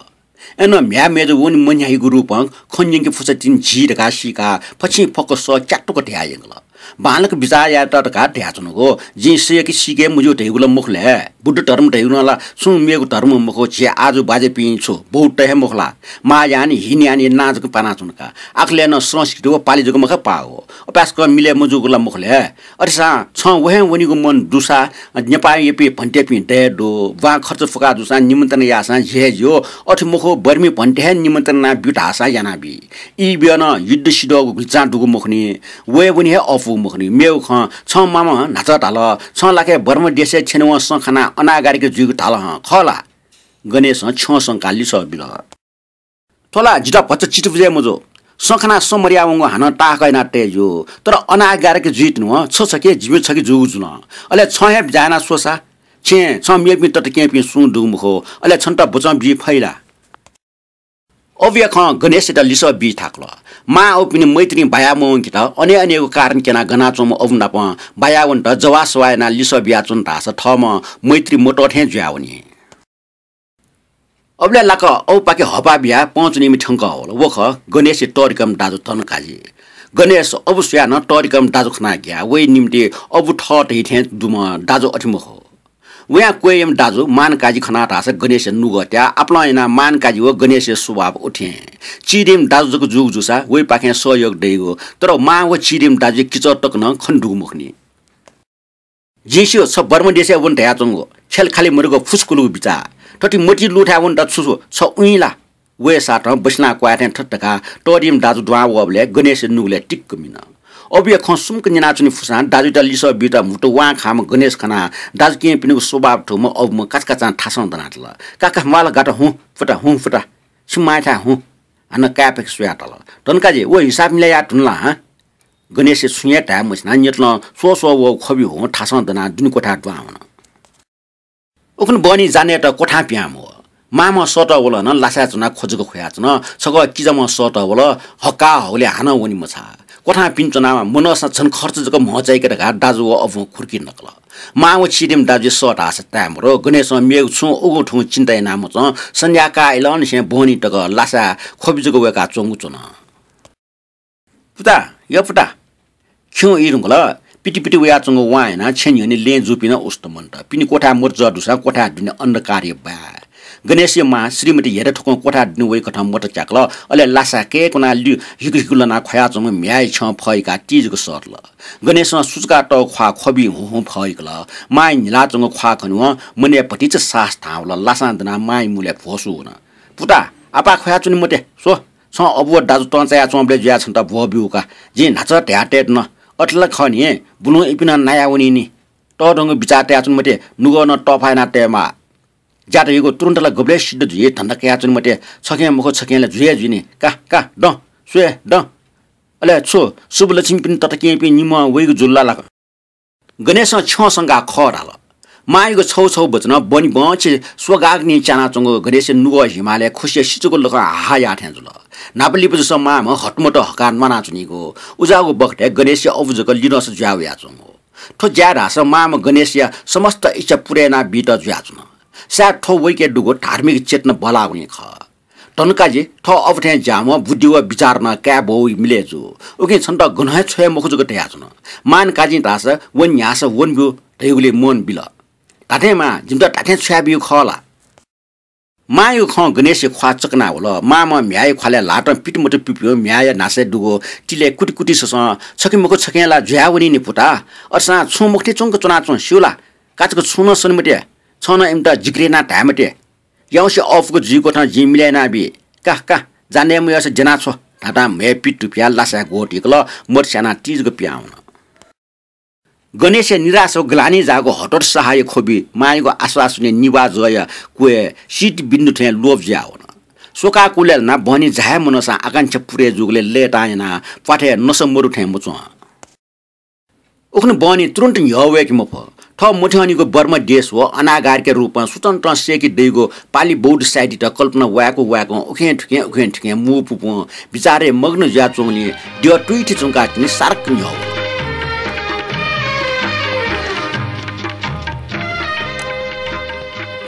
अय्‌नं म्ह्याय् मय्‌जु वने मन्ह्याइगु रूपं खँ न्यंके फुसा तिनि जी धकाः सीकाः फछिं फक्व सः क्यातुक धयाः यंकल। बांलाक बिचाः यायेत धकाः धयाच्वनागु। जिं सय्‌के सीके मज्यू धइगु ला मखु ले। बुद्ध धर्म धइगु नं ला छुं मेगु धर्म मखु, झी आजु बाज्यापिं छु बौद्ध हे मखु ला? महायान, हीनयानया नां जक पानाच्वन का। आखलय् नं संस्कृति व पालि जक मखा पाःगु। अपाय्‌सकं मिले मजूगु ला मखु ले। अथेसां छं वहे वनीगु मन दुसा नेपाःयापिं भन्तेपिं दये दु। ब्वाँय् खर्च फुकाः जूसां निमन्त्रणा याःसां झी हे ज्यू। अथे मखु, बर्मी भन्ते हे निमन्त्रणा ब्यु धाःसां यानाबी। ई ब्यः नं युद्ध सिधःगु गुलिचां दुगु मखुनि। वये वने हे अःपुगु मखुनि। मेगु खँ, छं मामं न्हाचः धाल, छं लाखे बर्मा देशय् छ्यनेवं सँ खानाः अनागारिक जुइगु धाल हं, खः ला? गणेशं छ्यं संकाः लिसः बिल। थ्व ला जितः भचा चित्त बुझे मजू। सँ खानाः सँ मदयावंगु हानं ताहाकः याना तये ज्यू। तर अनागारिक जुइ धुन हं छ छखे, जिमि छखे जूगु जुल। अले छं हे बिचाः याना स्वसा। छेँ, छं मेपिं तताकेहेँपिं सुं दुगु मखु। अले छन्त बचं बी फइ ला? अबुया खँ गणेशयात लिसः बी थाकुल। मां अबुपिनि मैत्रीं बाया मवंकेत अने अनेगु कारण क्यनाः गनाच्वंम्ह अबु नाप बाया वनेत जवाः सवाः यानाः लिसः बियाच्वन धाःसा थःम्हं मैत्री मतः थें जुयावनी। अबलय् लाक्क अबुपाखे हःपाः बियाः पहुँच्वनीम्ह थ्यंकः वल। व खः गणेशया तःधिकःम्ह दाजु धनकाजी। गणेश अबु स्वयाः नं तःधिकःम्ह दाजु खनाः ग्याः वइ निम्ति अबु थः धइ थें दुम्ह दाजु अथे मखु। वयां क्वय्‌याम्ह दाजु मानकाजी खनाः धाःसा गणेशया नुगः त्याः। आपालं यानाः मानकाजी व गणेशया स्वभाव उथें। चिधीम्ह दाजु जक जूगु जूसा वइपाखें सहयोग दइगु, तर मां व चिधीम्ह दाजुया किचः तक नं खने दुगु मखुनि। जिं स्यू, छ बर्मा देशय् वन धयाच्वंगु ख्यालखालि मदुगु फुसकुलुगु बिचाः। थथे मतिइ लूथाय् वनेत छु छु छ उइँ ला? वय्‌सातं बसिनाः क्वय् थें थथे धकाः तःधिम्ह दाजु दुहां वःबलय् गणेशया नुगलय् टिक्क मिन। अबुया खँ सुम्क न्यनाच्वनी फुसां दाजुयात लिसः बीत म्हुतु वां खाःम्ह गणेश खनाः दाजुकिजापिनिगु स्वभाव थूम्ह अबुम्ह काचाकाचां थासं दनातल। का का, म्वाल गात हुँ फुता, हुँ फुता। छिमि मांयाथाय् हुँ। हानं काय्‌पाखे स्वयाः धाल, धनकाजी, व हिसाब मिले याये धुन ला हँ? गणेशया छुं हे धाये मछिनाः न्यतलं स्वः स्वः वःगु ख्वबि हुँ थासं दनाः दुने क्वथाय् दुहां वन। उखुन्हु बहनी जा नयेत क्वथां पिहां मवः। मांम्ह सःतः वल नं लासाय् च्वनाः ख्व जक ख्वयाच्वन। छकः किजाम्ह सःतः वल, हक्काः हःगुलिं हानं वने मछाः। क्वथां पिने च्वनाः मनःसां झन खर्च जक म्हचाइके धकाः दाजु व अबुं खुर्की नकल। मां व चिधीम्ह दाजुया सः धाःसा ताये मरु। गणेशं मेगु छुं उगु थुगु चिन्ता याना मच्वं। सन्ध्या काः इलंनिसें बहनी तक लासाय् ख्वबि जक वय्‌काच्वंगु च्वन। पुता, या पुता, खिउँ ई धुंकल। पितिपिति वयाच्वंगु वां यानाः छेँ न्ह्यःने लँय् जूपिं नं उस्त मन्त। पिने क्वथाय् मत जः दुसां क्वथाय् दुने अन्धकारया बाय्। गणेशया मां श्रीमती हेरे थुकं क्वथाय् दुने वइकथं मत च्याकल। अले लासाय् कय्‌कुनाः लि हिकु हिकु लनाः ख्वयाच्वंम्ह म्ह्याय् छ्यं फहिकाः ति जक सःतल। गणेशं सुचुकातःगु ख्वाः ख्वबिं हुँ हुँ फहिकल। मांया न्हिलाच्वंगु ख्वाः खनेवं मनय् भतिचा साहस धां वल। लासां दनाः मांया मुलय् भ्वसू वन। पुता, आपाः ख्वयाच्वने मते। स्व, छं अबु व दाजु तंचायाच्वंबलय् जुयाः छन्त भ्वः ब्यूगु का। जिं न्हाचः धयातये धुन। अथे ला खः नि, बुलुं इपिं नं नाया वनी नि। तःधंगु बिचाः तयाच्वने मते, नुगः नं तःफा याना तयेमाः। ज्या धइगु तुरुन्त ला गुबलय् सिद्ध जुइ, धन्दा कयाच्वने मते। छखें मखु छखें ला जुइ हे जुइ नि। का, का, दँ, स्वये, दँ। अले छु, शुभलक्ष्मीपिनि तताकेहेँपिं निम्हं वइगु जुल ला लाक? गणेशं छ्यं संकाः खः धाल। मांयागु छौ छौ वचनं बहनी बहंछि स्वगाग्नि च्यानाच्वंगु गणेशया नुगः हिमालय् खुसिया सिचुगु लखं हाहा याः थें जुल। न्हापा लिपा जूसां मांम्ह हतमत हकाः न्वानाच्वनीगु। उज्याःगु बखतय् गणेशया अबु जक लिधंसा जुया वयाच्वंगु। थ्व ज्याय् धाःसा मांम्ह गणेशया समस्त इच्छा पूरा याना बीत जुयाच्वन। सायद थ्व वइके दुगु धार्मिक चेतना बलाःगुलिं खः। धनकाजी, थः अबु थें ज्याःम्ह बुद्धि व विचार नं काय् बौ मिले जू। उकिं छन्त गनं हे छ्वये मखु जक धयाच्वन। मानकाजीं धाःसा वने न्ह्याःसा वने ब्यु धइगुलिं मन बिल। धात्थें मां, जिमित धात्थें छ्वया ब्यु खः ला? मांयागु खँ गणेशया ख्वाः चकना वल। मांम्ह म्ह्याय्‌या ख्वालय् ल्हातं पितमत पिपिं म्ह्याय्‌या न्हासय् दुगु तिलय् कुति कुति ससं छखे मखु छखें ला जुया वनी नि पुता। अथेसां छुं मखुथें च्वंक च्वनाच्वँ स्यू ला? काचाक्क छुं नं सने मते। छं नं इमित जिकिर यानाः धाये मते। याउँसे अःपुक जुइकथं जिं मिले यानाबी। का, का, जाने मयाःसा ज्यना छ्व धातां म्हय् पित तुपियाः लासाय् ग्वतिकल, मत स्यानाः ति जक पिहां वन। गणेशया निराश व ग्लानि जाःगु हतोत्साहया ख्वबि मांयागु आश्वासनया निभाः जःया क्वय् शीत बिन्दु थें लोप जुया वन। स्वकाः कुलय् लानाः बहनी झाये मनःसां आकांक्षा पूरे जूगुलिं लय्‌तां यानाः प्वाथय् नसा मदु थें मच्वं। उखुन्हु बहनी तुरुन्त न्ह्यः वय्‌के मफु। थः मथ्यंनिगु बर्मा देश व अनागारिकया रूपं स्वतन्त्रं सय्‌के दइगु पालि बौद्ध साहित्ययात कल्पना वाय्‌कं वाय्‌कं उखें थुखें उखें थुखें मू पुपुं विचारय् मग्न जुयाच्वंगुलिं द्यः तुइथि च्वंकाः तिनि सारक्क न्ह्यः वल।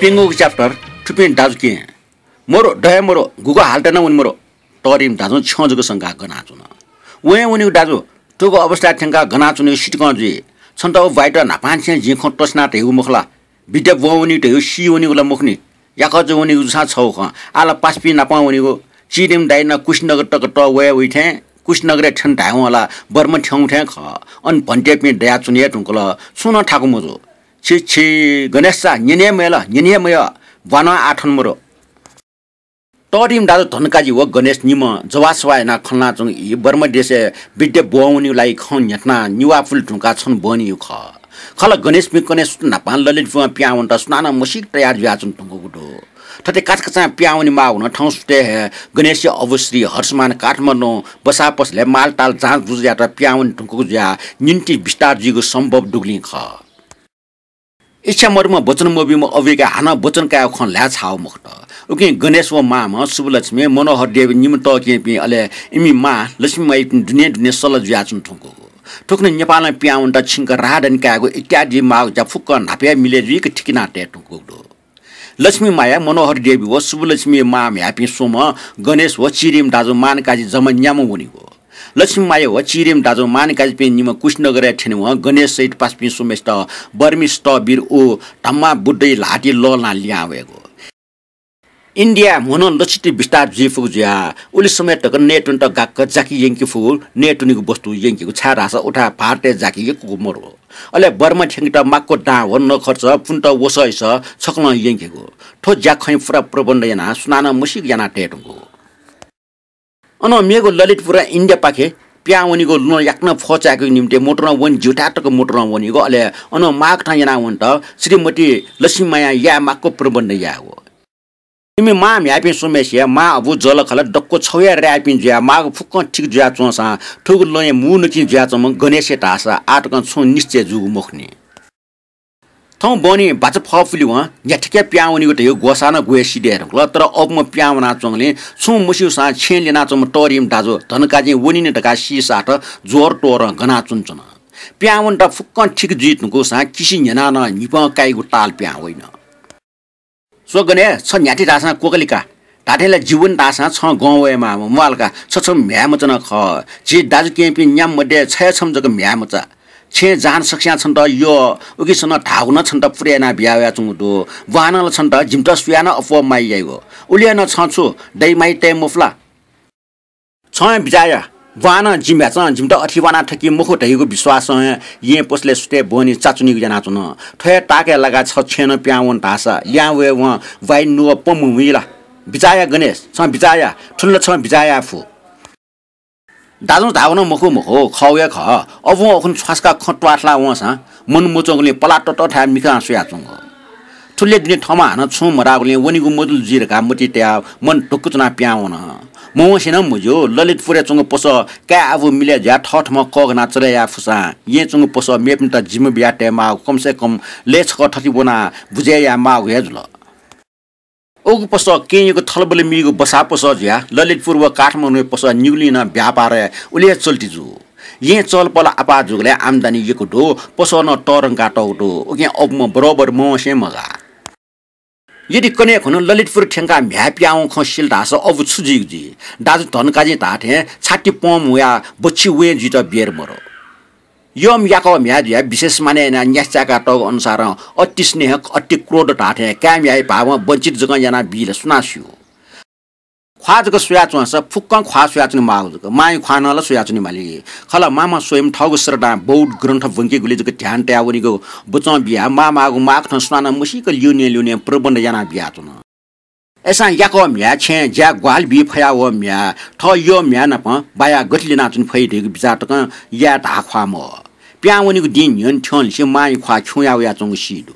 प्यंगूगु chapter थुपिं दाजुकिं मरु, दये मरु, गुगु हालतय् नं वने मरु। तःधिम्ह दाजुं छ्यं जक संकाः गनाच्वन। वं हे वनीगु दाजु, थुगु अवस्थाय् थ्यंकाः गनाच्वनेगु सितिकं जुइ। छन्त व ब्वाँइत न्हापांनिसें जिं खँ तसिना धयागु मखु ला? विद्या ब्वं वनीगु धयागु सी वनीगु ला मखुनि। याकःचा वनीगु जूसां छगू खँ। आः ला पासापिं नापं वनीगु। चिधिम्ह दाइ नं कुशीनगर तक तः वये वइ थें, कुशीनगरय् थ्यन धायेवं ला बर्मा थ्यंगु थें खः। अन भन्तेपिं दयाच्वने हे धुंकल। छुं नं थाकु मजू। छि, छि, गणेशचा, न्यने हे मयल, न्यने हे मयल। ब्वानं आः थन मरु। तःधिम्ह दाजु धनकाजी व गणेश निम्हं जवाःसवाः यानाः खनलाच्वंगु ई बर्मा देशय् विद्या ब्वं वनीगु लागि खँ न्ह्यथनाः निभाः पुले धुंकाः छन्हु बहनीगु खः। खः ला, गणेशपिं कन्हय् सुथ न्हापां ललितपुरं पिहां वनेत सुनानं मसीक तयार जुयाच्वने धुंकूगु दु। थथे काचाकाचां पिहां वनेमाःगु नं थौं सुथय् हे गणेशया अबु श्री हर्षमान काठमाडौं बसाः पसलय् मालताल जाँचबुझ यायेत पिहां वने धुंकूगु जुयाः निंतिं बिस्तार जुइगु सम्भव दुगुलिं खः। इच्छा मदुम्ह वचन मब्यूम्ह अबुयाके हानं वचन कायेगु खँ ल्हाये छाःगु मखुत। उकिं गणेश व मांम्ह शुभलक्ष्मी, मनोहर देवी निम्ह तःकेहेँपिं, अले इमि मां लक्ष्मी मायापिं दुने दुने सल जुयाच्वना धुंकूगु। थुकथं नेपालं पिहां वनेत छिंक राहदानी कायेगु इत्यादि माःगु ज्या फुक्कं न्हापा हे मिलय् जुइक थिकिना तये धुंकूगु दु। लक्ष्मी माया, मनोहर देवी व शुभलक्ष्मी मां म्ह्याय्‌पिं स्वम्ह गणेश व चिरिम दाजु मानकाजी जम्मा न्याम्ह वनीगु। लक्ष्मी माया व चिरिम दाजु मानकाजीपिं निम्ह कुशीनगरय् थ्यनेवं गणेश सहित पासापिं स्वम्हेसित बर्मी स्थविर व धम्मा बुद्धया ल्हातिइ लःल्हानाः लिहां वयेगु। इन्डियाय् म्ह नं लछिति बिस्तार जुइ फुगु जुयाः उलि समय तक नयेत्वनेत गाक्क जाकि यंके फुगु नयेत्वनेगु वस्तु यंकेगु, छाय्‌धाःसा उथाय् भारतय् जाकि यक्वगु मरु। अले बर्मा थ्यंकेत माक्व दां व नखर्च पुन्त वसः इस छकलं यंकेगु। थ्व ज्याखँया पूरा प्रबन्ध यानाः सुनानं मसीक याना तये धुंकूगु। अनं मेगु ललितपुरं इन्डियापाखे पिहां वनीगु लँ याकनं फःचायेकेगु निम्तिं मोटरं वने ज्यूथाय् तक मोटरं वनीगु, अले अनं माःकथं याना वनेत श्रीमती लक्ष्मी मायां याये माक्व प्रबन्ध यायेगु। इमि मां म्ह्याय्‌पिं स्वम्हेसिया मां अबु जःलाखःला दक्व छगू हे राय्‌पिं जुयाः माःगु फुक्कं ठीक जुयाच्वंसां थुगु लँया मू नकिं जुयाच्वंम्ह गणेशया धाःसा आः तकं छुं निश्चय जूगु मखुनि। थौं बहनी बाचा फः पुलेवं न्ह्याथेक्याः पिहां वनीगु धयागु ग्वसाः नं ग्वय् सिधये धुंकल, तर अबुम्ह पिहां वनाच्वंगुलिं छुं मस्यूसां छेँय् ल्यनाच्वंम्ह तःरिम्ह दाजु धनकाजीं वनीनि धकाः सीसाथ ज्वरं त्वरं गनाच्वनाच्वन। पिहां वनेत फुक्कं ठीक जुइ धुंकूसां किसि न्ह्यनाः नं न्हिपं काइगु ताल पिहां वइन। स्व गणेश, छ न्ह्याथे धाःसां क्वकलिका। धात्थें ला जि वने धाःसां छं गं वयेमाः, म्वाःल का, छ छम्ह म्ह्याय्‌मचा नं खः। झी दाजुकिजापिं न्याम्ह मध्ये छ हे छम्ह जक म्ह्याय्‌मचा। छेँय् जहान सकस्यां छन्त यः, उकिसनं धाःगु नं छन्त पुरा यानाः बिया वयाच्वंगु दु। बांनं ला छन्त जिमित सुयानं अप्वः माया याइगु। उलि हे नं छं छु दइ माया तये मफु ला? छं हे बिचाः या। बांनं जि म्ह्याय्‌चं जिमित अथे वानाः थकी मखु धइगु विश्वासं हे येँ पसलय् सुथय् बहनी चाच्वनीगु यानाच्वन। थ्व हे ताकय् लाकाः छ छेँनं पिहां वन धाःसा लिहां वयेवं वाइ नुगः पँ मुंहुइ ला? बिचाः या गणेश, छं बिचाः या। थुलि ला छं बिचाः याये फु। दाजुं धाःगु नं मखु मखु, खःगु हे खः। अबुं अखुन छ्वासकाः खँ त्वाथलाः वंसां मन मच्वंगुलिं पलाः ततःथाय् मिखां स्वयाच्वंगु। थुलि दुने थःम्हं हानं छुं मधाःगुलिं वनेगु मदुल जुइ धकाः मतिइ तयाः मन ढुक्क च्वनाः पिहां वन। मवंसे नं मज्यू, ललितपुरय् च्वंगु पसः काय् आबु मिलय् जुयाः थःथम्हं कःघानाः चले याये फुसां येँ च्वंगु पसः मेपिन्त जिम्मा बियाः तयेमाःगु कम से कम लय् छकः थथे वनाः बुझे यायेमाःगु हे जुल। उगु पसः केहेँयागु थलबल मीगु बसाः पसः जुयाः ललितपुर व काठमाडौंया पसः निगुलिं नं व्यापारय् उलि हे चल्ति जू। येँ चहलपहल आपाः जूगुलिं आम्दानी यक्व दु, पसः नं तःधंकाः तःगु दु। उकिं अबुम्ह बरोबर मवंसे मगाः। यदि कन्हय् खुन्हु ललितपुर थ्यंकाः म्ह्याय् पिहां वंगु खँ सिल धाःसा अबु छु जुइगु जुइ? दाजु धनकाजीं धाःथें छाति पं मुयाः बच्छि वँय् जुइत बेर मरु। यःम्ह याकः म्ह्याय् जुयाः विशेष मानय् यानाः न्यासि चाय्‌कातःगु अनुसारं अति स्नेह, अति क्रोध धाःथें काय् म्ह्याय् भावं वञ्चित जकं यानाः बील सुनां स्यू? ख्वाः जक स्वयाच्वंसा फुक्कं ख्वाः स्वयाच्वने माःगु जक, मांया ख्वाः नं ला स्वयाच्वने माली। खला मांम्ह स्वयं थःगु श्रद्धां बौद्ध ग्रन्थ ब्वंकेगुलि जक ध्यान तयाः वनेगु बचं बियाः माःमाःगु माःकथं सुनानं मसीक ल्यूने ल्यूने प्रबन्ध यानाः बियाच्वन। अय्‌सां याकः म्ह्याय् छेँय् ज्याय् ग्वाहालि बी फयावःम्ह म्ह्याय् थः यःम्ह्याय् नाप बायाः गथे ल्यनाच्वने फइ धइगु बिचाः तकं याये धाःख्वाः मवः। पिहां वनेगु दिं न्ह्यःने थ्यंलिसे मांया ख्वाः खिउँया वयाच्वंगु सी दु।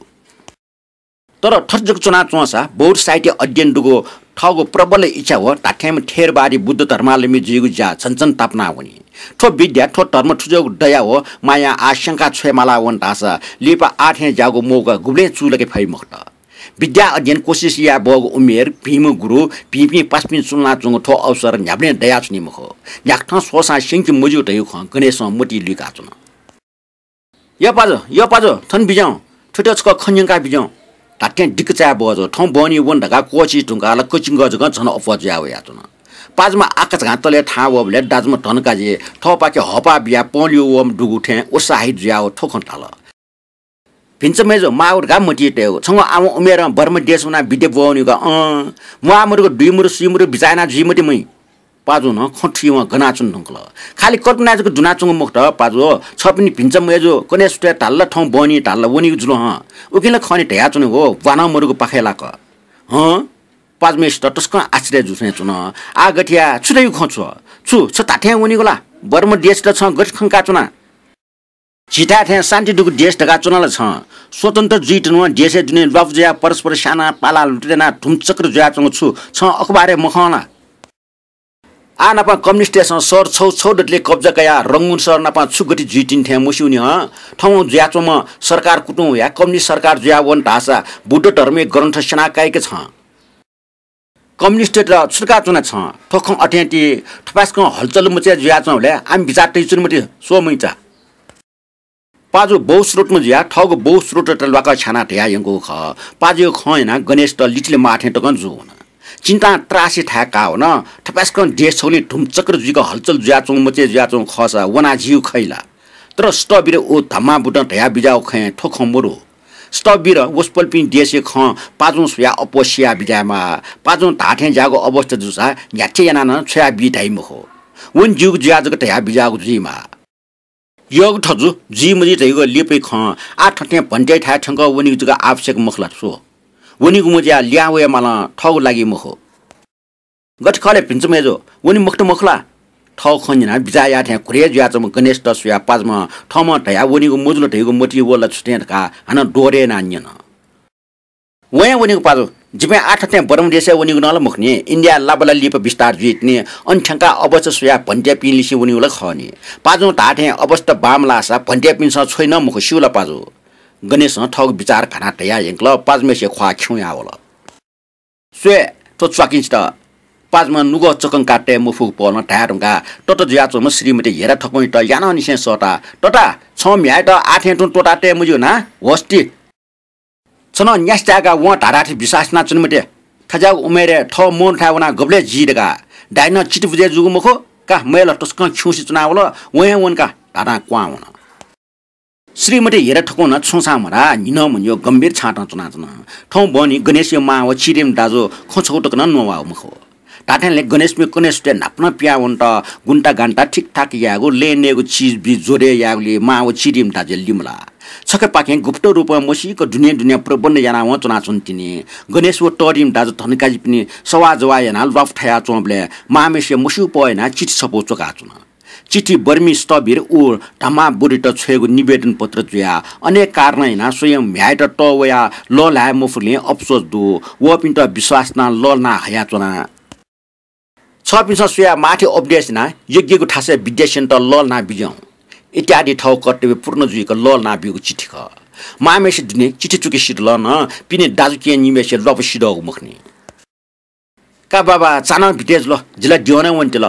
तर थथे जक च्वनाच्वंसा बौद्ध साहित्य अध्ययन दुगु थःगु प्रबल इच्छा व धात्थेंम्ह थेरवादी बुद्ध धर्मावलम्बी जुइगु ज्या झन झन तापाना वनी। थ्व विद्या, थ्व धर्म थुजःगु दया व मायां आः स्यंका छ्वये माला वन धाःसा लिपा आः थें ज्याःगु मौका गुबलें चूलाके फइ मखुत। विद्या अध्ययन कोसिस याये बहःगु उमेर, भिंम्ह गुरु, भिंपिं पासापिं चुलानाच्वंगु थ्व अवसर न्ह्याबलें दयाच्वनी मखु। न्ह्याकथं स्वःसां स्यंके मज्यू धइगु खँ गणेशं मतिइ लुइकाच्वन। यः पाजु, यः पाजु, थन बिज्याहुँ, थुइत छकः खँ न्यंका बिज्याहुँ। धात्थें दिक्क चाय् बहःजू। थौं बहनी वन धकाः क्वःछी धुंकाः ला कचिंगः जकं झन अप्वः जुया वयाच्वन। पाजुम्ह आकाझाकां तलय् थाहां वःबलय् दाजुम्ह धनकाजी थःपाखे हःपाः बियाः पंल्यू वःम्ह दुगु थें उत्साहित जुयाः व थ्व खँ धाल। भिंचा मय्जु, माःगु धकाः मतिइ तयेगु। छंगु आः वं उमेरं बर्मा देश वनाः विद्या ब्वः वनीगु का। अँ, म्वाः मदुगु, दुइ मदु, सुइ मदु बिचाः यानाः जुइ मते मुइ। पाजुं नं खँ थुइवं गनाच्वने धुंकल। खालि कल्पनाय् जक दुनाच्वंगु मखुत पाजु, छपिनि भिंचा मय्जु कन्हय् सुथय् धाल ला थौं बहनी धाल ला वनीगु जुल हं। उकिं ला खः नि धयाच्वने हो, ब्वानं मदुगु पाखय् लाक। हँ, पाजुम्हेसित तसकं आश्चर्य जू थें च्वन। आः गथे याये, छु धइगु खँ छु? छु, छ धात्थें वनीगु ला? बर्मा देशयात छं गथे खंकाच्वना? झीथाय् थें शान्ति दुगु देश धकाः च्वना ला छं? स्वतन्त्र जुइधुनवं देशय् दुने ल्वापु जुयाः परस्पर स्यानाः पालाः लुटु यानाः धुमचक्र जुयाच्वंगु छु छं अखबारय् मखं ला? आः नापं कम्युनिस्टतय्सं शहर छौ छौ दतले कब्जा कयाः रंगून शहर नापं छु गति जुइतिनि थें मस्यूनि हं। थौं जुयाच्वंम्ह सरकार कुतुं वयाः कम्युनिस्ट सरकार जुयावन धाःसा बुद्ध धर्मया ग्रन्थ स्यना काइके छं। कम्युनिस्टत छुटका च्वना छं। थ्व खँ अथें ति थपाय्‌सकं हलचल मचे जुयाच्वंबलय् आम बिचाः तइच्वने मते, स्व मुइचा। पाजु बहुश्रोतम्ह जुयाः थःगु बहुश्रोतत ल्वाकः छ्यानाः धयाः यंकूगु खः। पाजुया खँ न्यनाः गणेशत लिचिले माः थें तकं जूवन। चिन्तां त्रासी थाय् काः वन। थपाय्‌सकं देश छगुलिं धुमचक्र जुइक हलचल जुयाच्वंगु मचे जुयाच्वंगु खःसा वनाः जिउ खइ ला? तर स्तवीर व धम्माबुतं धयाः बिज्याःगु खँय् थ्व खँ मदु। स्तवीर वसपोलपिं देशया खँ पाजुं स्वयाः अप्वः सियाः बिज्यायेमाः। पाजुं धाःथें ज्याःगु अवस्था जूसा न्ह्याथे यानाः नं छ्वयाबी धाइ मखु। वने ज्यूगु जुयाः जक धयाः बिज्याःगु जुइमाः। यःगु थजु जुइ मजुइ धइगु लिपाया खँ आः थथें भन्त्याइथाय् थ्यंकः वनीगु जक आवश्यक मखु ला? स्व, वनीगु मजुयाः लिहां वये मालं थःगु लागि मखु। गथे खः ले भिन्चु मय्जु, वने मखुत मखु ला? थःगु खँ न्यनाः बिचाः याःथें घुरे जुयाच्वंम्ह गणेशत स्वयाः पाजुं थःम्हं धयाः वनीगु मजुल धइगु मतिइ वल ला छु थें धकाः हानं दोहोरे यानाः न्यन। वयां वनीगु पाजु, जिपिं आः थथें बर्मा देशय् वनीगु नं ला मखु नि, इन्डियाय् लाबला लिपा बिस्तार जुइ तिनि, अन थ्यंकाः अवस्था स्वयाः भन्त्याइपिं लिसे वनीगु ला खः नि। पाजुं धाःथें अवस्था बांमलाःसा भन्त्याइपिन्सं छ्वइ नं मखु, स्यू ला पाजु? गणेशं थःगु बिचाः घानाः धयाः यंकल, पाजुम्हेसिया ख्वाः खिउँयाः वल। स्वये, थ्व च्वाकिंसित। पाजुम्हं नुगः चकंका तये मफुगु पहलं धाये धुंकाः तत जुयाच्वंम्ह श्रीमती हेरा थकुंयात यानानिसें सःताः, तता, छं म्ह्याय्‌यात आः थें तुं त्वःता तये मज्यू ना? होस्ति। छ नं न्यासि चाय्‌काः वं धाधाथें विश्वास यानाच्वने मते। थज्याःगु उमेरय् थः मनूथाय् वनाः गबलय् जी धकाः। दाइनं चित्त बुझे जूगु मखु का, मय्‌ला तसकं खिउँसे च्वनावल, वं हे वन का धाधां क्वहां वन। श्रीमती हेरा थकुं नं छुं सां मधाः, न्हिनं म्हन्यु गम्भीर छातं च्वनाच्वन। थौं बहनी गणेशया मां व चिरिम दाजु खँ छगू तक नं न्ववाःगु मखु। धात्थें ले गणेशपिं कन्हय् सुथय् न्हापा नं पिहां वनेत गुन्ता गान्ता ठिकठाक यायेगु, लँय् नयेगु चिज बी जोडे यायेगुलिइ मां व चिरिम दाजुया लिमलाः। छखेपाखें गुप्त रूपं मसीक दुने दुने प्रबन्ध यानावं च्वनाच्वन तिनि। गणेश व तःधिम दाजु धनकाजीपिनि सवाः जवाः यानाः ल्वापु थायाच्वंबलय् मांम्हेसिया मस्यूपः यानाः चिठी छपु च्वकाच्वन। चिठी बर्मी स्तवीर व धम्माबुरित छ्वयेगु निवेदन पत्र जुयाः अनेक कारणं यानाः स्वयं म्ह्याय्‌यात तःवयाः लःल्हाये मफुगुलिं अफसोस दु। वःपिन्त विश्वास यानाः लःल्हाना हयाच्वना। छःपिन्सं स्वयाः माःथें उपदेश यानाः योग्यगु थासय् विद्यासेनत लःल्हाना बिज्याहुँ इत्यादि थःगु कर्तव्य पूर्ण जुइक लःल्हाना ब्यूगु चिठी खः। मांम्हेसे दुने चिठी चुकि सिधल नं पिने दाजुकिजापिं निम्हेसे ल्वापु सिधःगु मखुनि। का बाबा, चान्हः बिते जुल, जि ला द्यः नं वनेत्यल।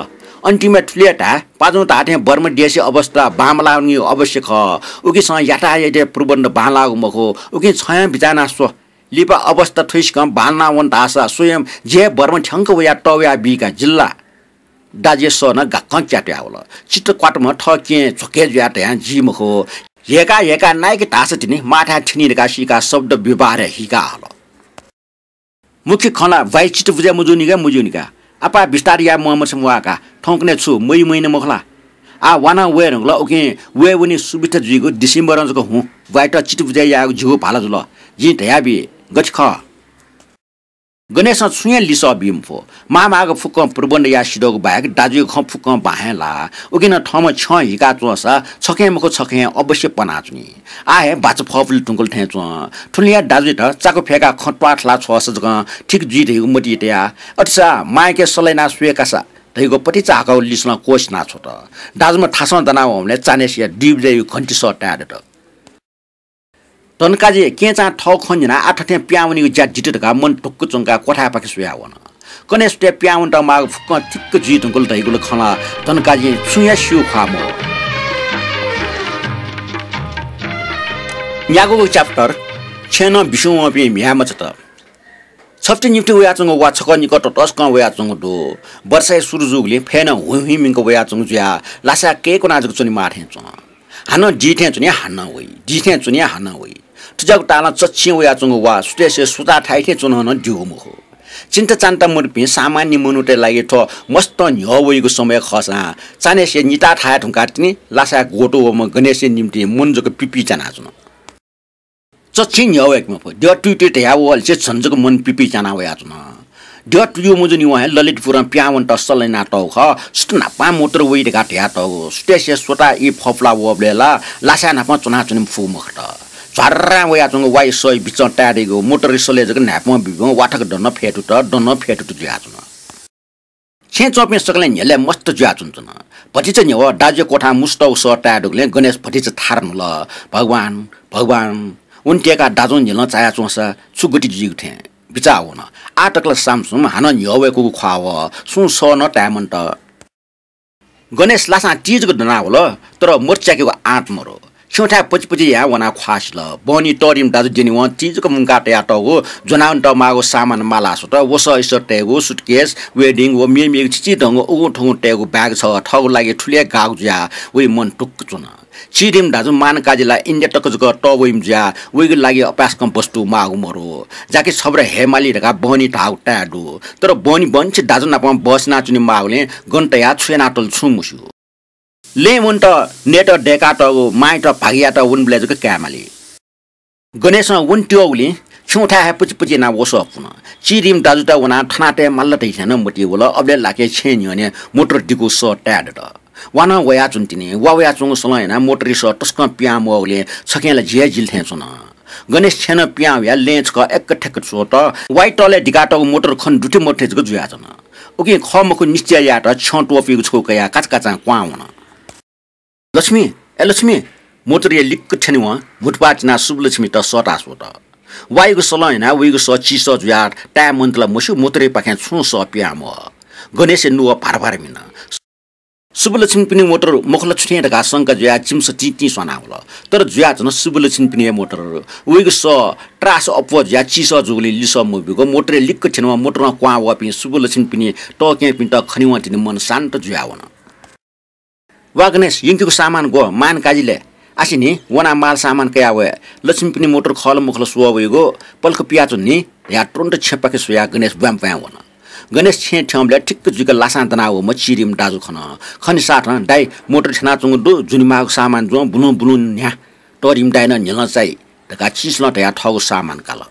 अन्तिमय् थुलि हे धाये, पाजुं धाःथें बर्मा देशया अवस्था बांमलाःगु अवश्य खः। उकिसं यातायातया प्रबन्ध बांलाःगु मखु। उकिं छं हे बिचाः यानाः स्व। लिपा अवस्था थुइसिकं बांलाना वन धाःसा स्वयं जि हे बर्मा थ्यंक वयाः तःवया बी का, जिल्ला। दाजुया सः नं गाक्कं च्यातुयावल। चित्त क्वातम्ह थः केहेँ झ्वके जुयाः धयां जी मखु। ह्यय्‌का ह्यय्‌का नाइके धाःसा तिनि माःथाय् थ्यनी धकाः सीकाः शब्द व्यवहारय् हिकाः हल। मुख्य खँ ला ब्वाइ चित्त बुझे मजूनि का, मजूनि का। आपाः बिस्तार याये म्वाःमछिं वा का, थौंकन्हय् छु मइ मइन मखु ला? आः वा नं वये धुंकल, उकिं वये वने सुबिस्ता जुइगु डिसेम्बरं जक हुँ। ब्वाइत चित्त बुझे यायेगु जिगु भाला जुल। जिं धयाबी, गथे खः? गणेशं छुं हे लिसः बी मफु। माःमाःगु फुक्कं प्रबन्ध याये सिधःगु बाहेक दाजुया खँ फुक्कं बां हे लाः। उकिं नं थःम्हं छ्यं हिकाच्वंसा छखें मखु छखें अवश्य पनाच्वनी। आः हे बाचा फःपुले धुंकल थें च्वं। थुलि हे दाजुयात चाकु फय्‌काः खँ त्वाथला छ्वःसा जकं ठीक जुइ धइगु मतिइ तयाः, अथेसा मांयाके सल्लाह यानाः स्वये कासा धइगु पतिचा हाकःगु लिसलं क्वःछिना छ्वत। दाजुम्ह थासं दनावंबलय् चान्हय्‌सिया दुई बजेया घन्टी सः ताये दत। धनकाजी, केहेँचां थःगु खँ न्यनाः आः थथें पिहां वनीगु ज्या दित धकाः मन ढुक्क च्वंकाः क्वथाय् पाखे स्वयाः वन। कन्हय् सुथय् पिहां वनेत माःगु फुक्कं थिक्क जुइ धुंकल धइगु ला खँ ला धनकाजीं छुं हे स्यू ख्वाः मवः। न्यागूगु chapter, छेँनं बिस्युं वंपिं म्ह्याय्‌मचात। छप्ति निप्ति वयाच्वंगु वा छकः निकः ततसकं वयाच्वंगु दु। वर्षाया सुरु जूगुलिं फय् नं हुइहुइमिंक वयाच्वंगु जुयाः लासाय् कय्‌कुना जक च्वनेमाः थें च्वं। हानं दी थें च्वनी, हानं वइ, दी थें च्वनी, हानं वइ। थुज्याःगु तालं चच्छि वयाच्वंगु वा सुथय्‌से सुता थाइ थें च्वन नं द्यूगु मखु। चिन्ता चान्ता मदुपिं सामान्य मनूतय् लागि थ्व मस्त न्ह्यः वइगु समय खःसां चान्हय्‌से निता थाये धुंकाः तिनि लासाय् ग्वतु वःम्ह गणेशया निंतिं मन जक पिपिच्यानाच्वन। चच्छि न्ह्यः वय्‌के मफु। द्यः तुइतुइ धयाः वःलिसे झन जक मन पिपिच्याना वयाच्वन। द्यः तुयु मजूनि वं हे ललितपुरं पिहां वनेत सल्लाह यानातःगु खः। सुथ न्हापां मोटर वइ धकाः धयातःगु। सुथय्‌से स्वता ई फफुला वःबलय् ला लासाय् न्हापां च्वनाच्वने फुगु मखुत। झ्वार्रां वयाच्वंगु वाइ सःया बिचं ताये दइगु मोटर सलय् जक न्हाय्‌पं बिबिं वाथक दन फय्‌तुत, दन फय्‌तुत जुयाच्वन। छेँय् च्वंपिं सकलें न्ह्यलय् मस्त जुयाच्वंच्वन। भतिचा न्ह्यवः दाजुया क्वथां मुसुतःगु सः ताये दुगुलिं गणेश भतिचा थारा न्हुल। भगवान, भगवान, वने त्यय्‌काः दाजुं न्ह्यलं चायाच्वंसा छु गति जुइगु थें। बिचाः वन। आः तक ला सामसुम, हानं न्ह्यः वय्कूगु ख्वाः वः। सुं सः नं ताये मन्त। गणेश लासां ति जक दनावल, तर मोटर च्याकेगु आँट मरु। छेँथाय् पचिपचि यानाः वनाः ख्वाः सिल। बहनी तःधिम्ह दाजु द्यनेवं ति जक मुंकाः तयातःगु ज्वनावनेत माःगु सामान माला स्वत। वसः इसः तयेगु, suitcase, wedding व मेमेगु चिचिधंगु उगुं थुगुं तयेगु bag छगः थःगु लागि थुलि हे गाःगु जुयाः वइ मन टुक्क च्वन। चिधिम्ह दाजु मानकाजी ला इन्डिया तक जक तःवइम्ह जुयाः वइगु लागि अपाय्सकं वस्तु माःगु मरु। जाकि छब्र हयेमाली धकाः बहनी धाःगु ताये दु। तर बहनी बहनी छि दाजु नाप बहसि यानाच्वने माःगुलिं गन तयाः छु यानातल छुं मस्यू। लँय् वनेत नयेत दय्कातःगु मांयात भागि यायेत वनेबलय् जक कायेमाली। गणेशं वने त्यःगुलिं छेँथाय् हे पचिपचि यानाः वसः पुन। चिधिम्ह दाजुत वनाः थनातये माल धइथें नं मतिइ वल। अबलय् लाक्क छेँय् न्ह्यःने मोटर दिकूगु सः ताये दत। वा नं वयाच्वन तिनि। वा वयाच्वंगु सलं यानाः मोटरया सः तसकं पिहां मवःगुलिं छखें ला झी हे जिल थें च्वन। गणेश छेँनं पिहां वयाः लँय् छकः एक्क ठ्याक्क स्वत। वाइतलय् दिकातःगु मोटर खने दुथ्याः मदुथ्याः जक जुयाच्वन। उकिं खः मखु निश्चय यायेत छ्यं त्वपुइगु छगू कयाः काचाकाचां क्वहां वन। लक्ष्मी, ए लक्ष्मी, मोटरया लिक्क थ्यनेवं भुतुपाः चिनाः सुब्बुलक्ष्मीत सःता स्वत। वाइगु सलं यानाः वइगु सः चिसः जुयाः ताये मन्त ला मस्यू, मोटरया पाखें छुं सः पिहां मवः। गणेशया नुगः भार भार मिन। सुब्बुलक्ष्मीपिनि मोटर मखु ला छु थें धकाः शंका जुयाः जिमिसं तिं तिं स्वानावल। तर जुयाच्वन सुब्बुलक्ष्मीपिनि हे मोटर। वइगु सः त्रास अप्वः जुयाः चिसः जूगुलिं लिसः मब्यूगु। मोटरया लिक्क थ्यनेवं मोटरं क्वहां वःपिं सुब्बुलक्ष्मीपिनि तःकेहेँपिन्त खनेवं तिनि मन शान्त जुयावन। वा गणेश, यंकेगु सामान ग्व, मानकाजी लय्? आः नि, वनाः माल सामान कयाः वये। लक्ष्मीपिनि मोटर खः ला मखु ला स्वः वइगु, पलख पियाच्वन नि धयाः तुरुन्त छेँपाखे स्वयाः गणेश ब्वाँय् ब्वाँय् वन। गणेश छेँय् थ्यंबलय् ठिक्क जुइक लासां दनावःम्ह चिधिम्ह दाजु खन। खनेसाथं, दाइ, मोटर थ्यनाच्वंगु दु, ज्वनेमाःगु सामान ज्वँ, बुलुं बुलुं न्ह्या। तःधिम्ह दाइनं न्ह्यलं चाइ धकाः चिसलं धयाः थःगु सामान काल।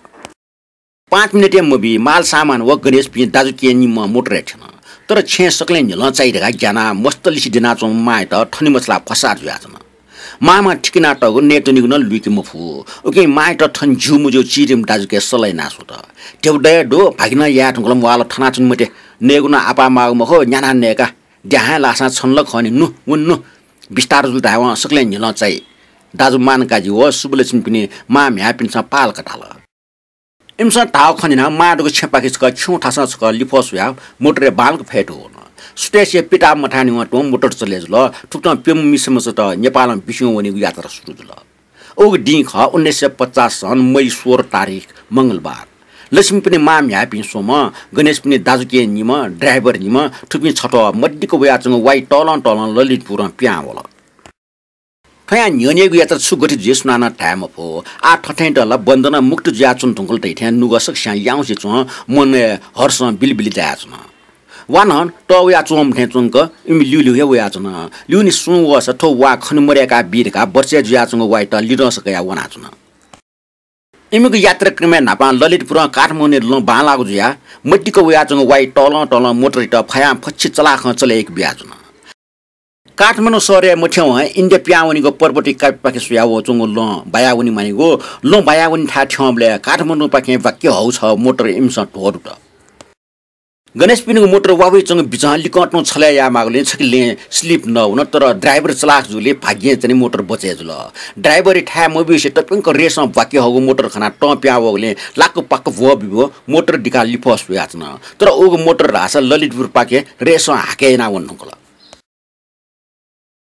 पाँच मिनेट हे मबी, माल सामान व गणेशपिं दाजुकिजापिं निम्ह मोटरय् थ्यन। तर छेँय् सकलें न्ह्यलं चाइ धकाः ग्यानाः मस्त लिसे द्यनाच्वंम्ह मांयात थने मछालाः फसाः जुयाच्वन। मांम्हं थिकिनातःगु नयेत्वनेगु नं लुइके मफु। उकिं मांयात थन ज्यू मज्यू चिधिम्ह दाजुके सल्लाह याना स्वत। ध्यबा दये दु, भागि नं याये धुंकल म्वाःल, थनाच्वने मते। नयेगु नं आपाः माःगु मखु, न्यानाः नयेका। द्याहां लाःसां छन ला खः नि, नु, वने नु। बिस्तार जुल धायेवं सकलें न्ह्यलं चाइ। दाजु मानकाजी व सुब्बुलक्ष्मीपिनि मां म्ह्याय्‌पिन्सं पालक धाल। इमिसं धाःगु खँ न्यनाः मां दुगु छेँपाखे छकः खिउँथासं छकः लिफः स्वयाः मोटरय् बांलाक फय् धुन। सुथय्‌सिया पिता मथाय् निवं तुं मोटर चले जुल। थुकथं प्यम्ह मिसा मचात नेपालं बिस्युं वनेगु यात्रा सुरु जुल। उगु दिं खः उन्नाइस सय पचास सन् मई सोह्र तारिख मंगलबार। लक्ष्मीपिनि मां म्ह्याय्‌पिं स्वम्ह, गणेशपिनि दाजुकिजा निम्ह, ड्राइभर निम्ह, थुपिं छथ्वः मदिक्क वयाच्वंगु वाइ तलं तलं ललितपुरं पिहां वल। थ्वयां न्ह्यःनेगु यात्रा छु गथे जुइ सुनानं धाये मफु। आः थथें ला बन्धनं मुक्त जुयाच्वने धुंकल धइथें नुगः सकसियां याउँसे च्वं, मनय् हर्षं बिलिबिलि जायाच्वन। वा नं तः वयाच्वंम्ह थें च्वंक इमि ल्यूल्यू हे वयाच्वन। ल्यूने सुं वःसा थ्व वा खने मदय्‌का बी धकाः बचय् जुयाच्वंगु वाइत लिधंसा कयाः वनाच्वन। इमिगु यात्राक्रमय् न्हापां ललितपुरं काठमाडौंया लँ बांलाःगु जुयाः मदिक्क वयाच्वंगु वाइ तलं तलं मोटरयात फयां फच्छि चलाखं चले याके बियाच्वन। काठमाडौं शहरय् मथ्यंवं इन्डिया पिहां वनीगु पर्वतया कापिपाखे स्वयाः वःच्वंगु लँ बायावने मानिगु। लँ बायावने थाय् थ्यंबलय् काठमाडौंपाखें वाक्क हःगु छगू मोटर इमिसं ध्वदुत। गणेशपिनिगु मोटर वा वइच्वंगु बिचं लिकं तुं छलय् यायेमाःगुलिं छखे लँय् slip नः वन, तर ड्राइभर चलाख जूगुलिं भाग्यं चाहिँ मोटर बचय् जुल। ड्राइभरया थाय् मब्यूसे तप्यंक रेसं वाक्क हःगु मोटर खनाः तं पिहां वःगुलिं लाक्क पाक्क भ्वः बिभ्वः मोटर दिकाः लिफः स्वयाच्वन। तर उगु मोटर धाःसा ललितपुरपाखे रेसं हाकय् यानाः वने धुंकल।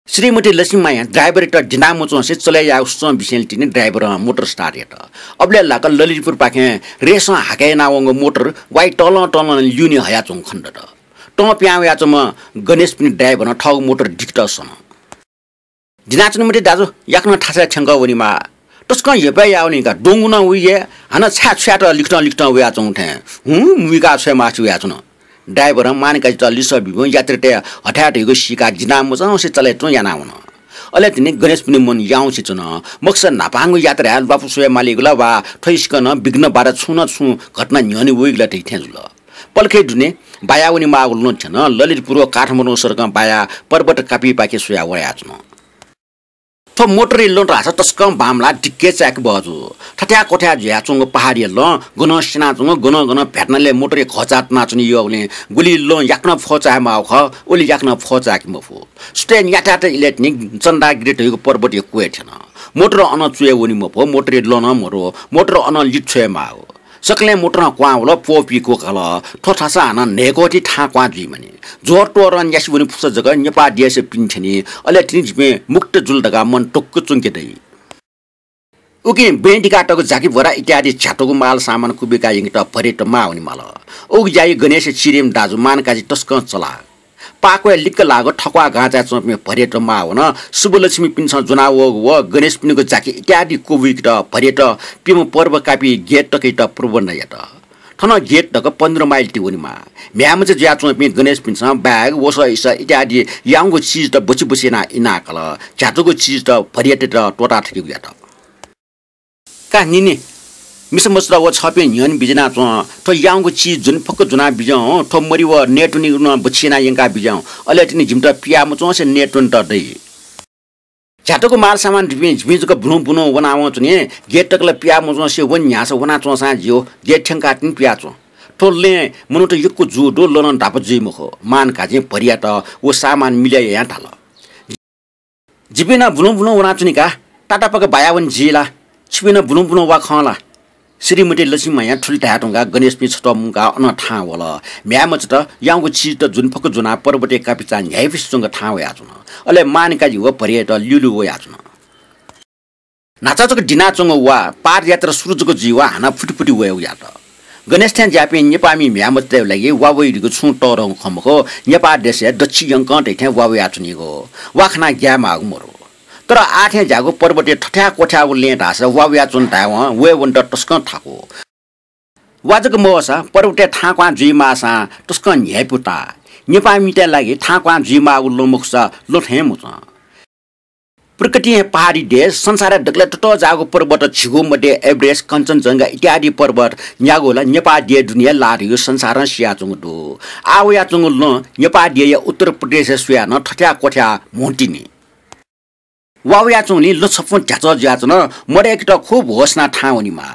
श्रीमती लक्ष्मीमायां ड्राइभरयात द्यना मच्वंसे चले यायेगु सुचं बिसेंलि तिनि ड्राइभरं मोटर start यात। अबलय् लाक्क ललितपुरपाखें रेसं हाकय् यानावंगु मोटर वाइ तलं तलं ल्यूने हयाच्वंगु खनेदत। तं पिहां वयाच्वंम्ह गणेशपिनि ड्राइभरं थःगु मोटर दिकेत सन। द्यनाच्वने मते दाजु, याकनं थासय् थ्यंकः वनेमाः। तसकं हेपय् याः वनी का, द्वंगु नं वइ हे, हानं छाय् छु यायेत लिकतं लिकतं वयाच्वंगु थें हुँ मुइकाः छ्वयेमाःसे वयाच्वन। ड्राइभरं मानकाजीत लिसः बीबलय् यात्रीतय् हथाय् धइगु सीकाः द्यना मच्वंसे चले तुं यानावन। अले तिनि गणेशपिनि मन याउँसे च्वन। मखुसा न्हापांगु यात्राय् ल्वापु स्वये मालीगु ला वा थ्वयासिकं नं विघ्न बाधा छुं न छुं घटना न्ह्यःने वइगु ला धइथें जुल। पलखय् दुने बायावने माःगु लँ थ्यन। ललितपुर व काठमाडौं सडकं बायाः पर्वत कापिपाखे स्वयाः वयाच्वन। थ्व मोटरया लँ धाःसा तसकं बांमलाः दिक्क हे चाय्‌के बहःजू। थथ्याः क्वथ्याः जुयाच्वंगु पहाडया लँ, गनं स्यनाच्वंगु, गनं गनं भ्यातनालय् मोटरया घःचाः तनाच्वने यःगुलिं गुलि लँ याकनं फः चाये माःगु खः, उलि याकनं फः चाय्‌के मफु। सुथय् न्याथाय् इलय् तिनि चन्दागिरी धइगु पर्वतया क्वय् थ्यन। मोटर अनं च्वय् वने मफु, मोटरया लँ नं मदु, मोटर अनं लित छ्वये माःगु। सकलें मोटरं क्वहां वल, प्वःपिं क्वकाल। थ्व थासं हानं न्हय्‌क्वःति थाहां क्वहां जुइ मानि। ज्वरतोरं न्यासि वने फुसा जक नेपाः देशय् पिने थ्यनी। अले तिनि जिपिं मुक्त जुल धकाः मन ढुक्क च्वंके दइ। उकिं बँय् दिकातःगु जाकिभरा इत्यादि झ्यातुगु माल सामान कुबिकाः यंकेत भरियात माः वनेमाल। उगु ज्याय् गणेश चिरिम दाजु मानकाजी तसकं चलाख। पाक्वय् लिक्क लाःगु थक्वाः गाँचाय् च्वंपिं भरियात माः वन। शुभलक्ष्मीपिन्सं ज्वनावःगु व गणेशपिनिगु जाकि इत्यादि क्वबुइकेत भरियात प्यम्ह पर्व कापि गेट तकयात प्रबन्ध यात। थन गेट तक पन्ध्र माइल ति वनेमाः। म्ह्याय्‌मचा जुयाच्वंपिं गणेशपिन्सं bag, वसः इसः इत्यादि याउँगु चिजत बछि बछि यानाः इनाकाल। झ्यातुगु चिजत भरियातयात त्वःता थकेगु यात। का निनि, मिसा मचात व छःपिं न्ह्यःने बिज्यानाच्वँ। थ्व याउँगु चिज ज्वने फक्व ज्वना बिज्याहुँ। थ्व मरि व नयेत्वनेगु नं बछि यानाः यंका बिज्याहुँ। अले तिनि जिमित पिया मच्वंसे नयेत्वनेत दइ। झ्यातुगु माल सामान दुपिं जिपिं जक बुलुं बुलुं वनावं च्वने। गेट तक ला पिया मच्वंसे वने न्ह्याःसा वनाच्वंसां ज्यू। गेट थ्यंकाः तिनि पियाच्वँ। थ्व लँय् मनूत यक्व जू दु, लँ नं दापा जुइ मखु। मानकाजीं भरियात व सामान मिले यायां धाल। जिपिं नं बुलुं बुलुं वनाच्वनी का, तातापाक बाया वने जी ला? छिपिं नं बुलुं बुलुं वा खं ला? श्रीमती लक्ष्मी मायां थुलि धाये धुंकाः गणेशपिं छत्वः मुंकाः अनं थाहां वल। म्ह्याय्‌मचात याउँगु चिजत ज्वने फक्व ज्वनाः पर्वतय् कापिचां न्ह्याइपुसे च्वंक थाहां वयाच्वन। अले मानकाजी व भरियात ल्यूल्यू वयाच्वन। न्हाचः जक दिनाच्वंगु वा, पादयात्रा सुरु जक जुइ वा, हानं फुतिफुति वयेगु यात। गणेश थें ज्याःपिं नेपाःमि म्ह्याय्‌मचातय् लागि वा वइगु छुं तःधंगु खँ मखु, नेपाः देशय् दच्छि यंकं धइथें वा वयाच्वनीगु। वा खनाः ग्याये माःगु मरु। तर आः थें ज्याःगु पर्वतय् थथ्याः क्वथ्याःगु लँय् धाःसा वा वयाच्वन धायेवं वये वनेत तसकं थाकु। वा जक मवःसा पर्वतय् थाहां क्वहां जुइमाःसां तसकं न्ह्याइपु ताः। नेपाःमितय् लागि थाहां क्वहां जुइमाःगु लँ मखुसा लँ थें मच्वं। प्रकृतिं हे पहाडी देश, संसारय् दकलय् ततःजाःगु पर्वत झिगू मध्ये एभरेस्ट, कञ्चनजंघा इत्यादि पर्वत न्यागू ला नेपाः देय् दुने हे लाः धइगु संसारं सियाच्वंगु दु। आः वयाच्वंगु लँ नेपाः देय्‌या उत्तर प्रदेशय् स्वयाः नं थथ्याः क्वथ्याः म्हुतिनि। वा वयाच्वंगुलिं लँ छपुं ध्याचः जुयाच्वन। मदय्‌केत खुब होश यानाः थाहां वनेमाः।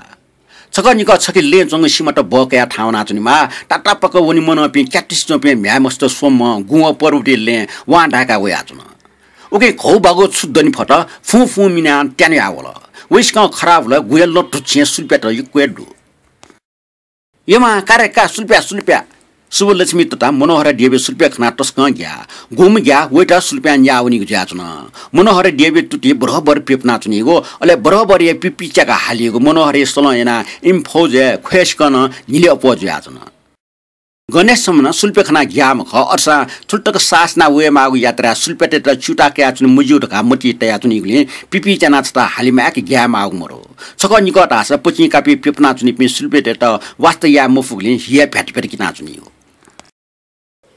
छकः निकः छखे लँय् च्वंगु सिमात बः कयाः थाहां वनाच्वनेमाः। तातापाक वने मनंपिं क्यातुसे च्वंपिं म्ह्याय्‌मचात स्वम्हं गुं व पर्वतय् लँय् वां दाय्‌काः वयाच्वन। उकिं घौबाघौ छु दने फत, फुं फुं मिनाः त्यानाः वल। वय्‌सिकं खराः वल, गुया लँ धुच्छें सुलुप्यात यक्व हे दु। यमा, का रे का, सुलुप्या, सुलुप्या। शुभलक्ष्मी तता मनोहर देवी सुलुप्या खनाः तसकं ग्याः। गुम्ह ग्याः वइत सुलुप्यां न्याः वनीगु जुयाच्वन। मनोहर देवी तुति बरोबर प्यपुनाच्वनीगु, अले बरोबर हे पिपि च्याकाः हालीगु मनोहरया सलं यानाः इमि फौजय् ख्वय्‌सिकं नं न्हिले अप्वः जुयाच्वन। गणेश छम्हं नं सुलुप्या खनाः ग्याःम्ह खः, अथेसां थुलि तक साहस यानाः वयेमाःगु यात्राय् सुलुप्यातय्‌त च्यूताः कयाच्वने मज्यू धकाः मतिइ तयाच्वनीगुलिं पिपि च्यानाः छता हाले माय्‌क ग्याये माःगु मरु। छकः निकः धाःसा पचिं कापि प्यपुनाच्वनीपिं सुलुप्यातय्‌त वास्ता याये मफुगुलिं हि हे भ्यातभ्यात किनाच्वनीगु।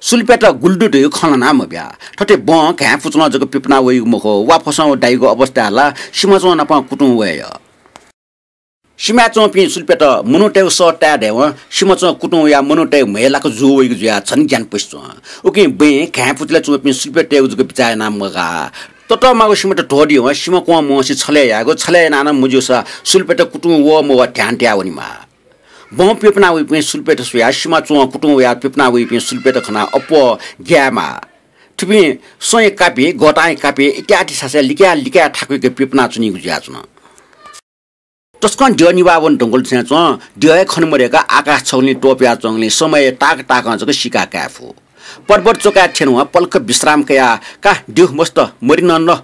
सुलुप्यात गुलि दु धइगु खँ ल्हाना मब्या। थथे बं घाँय् पुचलं जक प्यपुना वइगु मखु, वा फसं व दाइगु अवस्थाय् ला सिमाच्वं नाप कुतुं वये यः। सिमाय् च्वंपिं सुलुप्यात मनूतय्‌गु सः ताये धयावं सिमाच्वं कुतुं वयाः मनूतय् म्हय् लाक जू वइगु जुयाः झन ग्यानापुसे च्वं। उकिं बँय् घाँय् पुचलय् च्वंपिं सुलुप्यातय्‌गु जक बिचाः यानाः मगाः। ततःमाःगु सिमात ध्वदीवं सिमा क्वं मवंसे छलय् यायेगु, छलय् यानाः नं मज्यूसा सुलुप्यात कुतुं वः मवः ध्यान तयाः वनेमाः। बं प्यपुना वइपिं सुलुप्यात स्वयाः सिमाच्वं कुतुं वयाः प्यपुना वइपिं सुलुप्यात खनाः अप्वः ग्यायेमाः। थुपिं स्वँया कापि, गःतांया कापि इत्यादि सासय् लिकाय् लिकाय् थाकुइक प्यपुनाच्वनीगु जुयाच्वन। तसकं द्यः निभाः वने धुंकल थें च्वं। द्यः हे खने मदय्‌क आकाश छगुलिं त्वपुयाच्वंगुलिं समयया ताक ताकं जक सीकाः काये फु। पर्वत च्वकाय् थ्यनेवं पलख विश्राम कयाः का द्यः मस्त, मरि नं न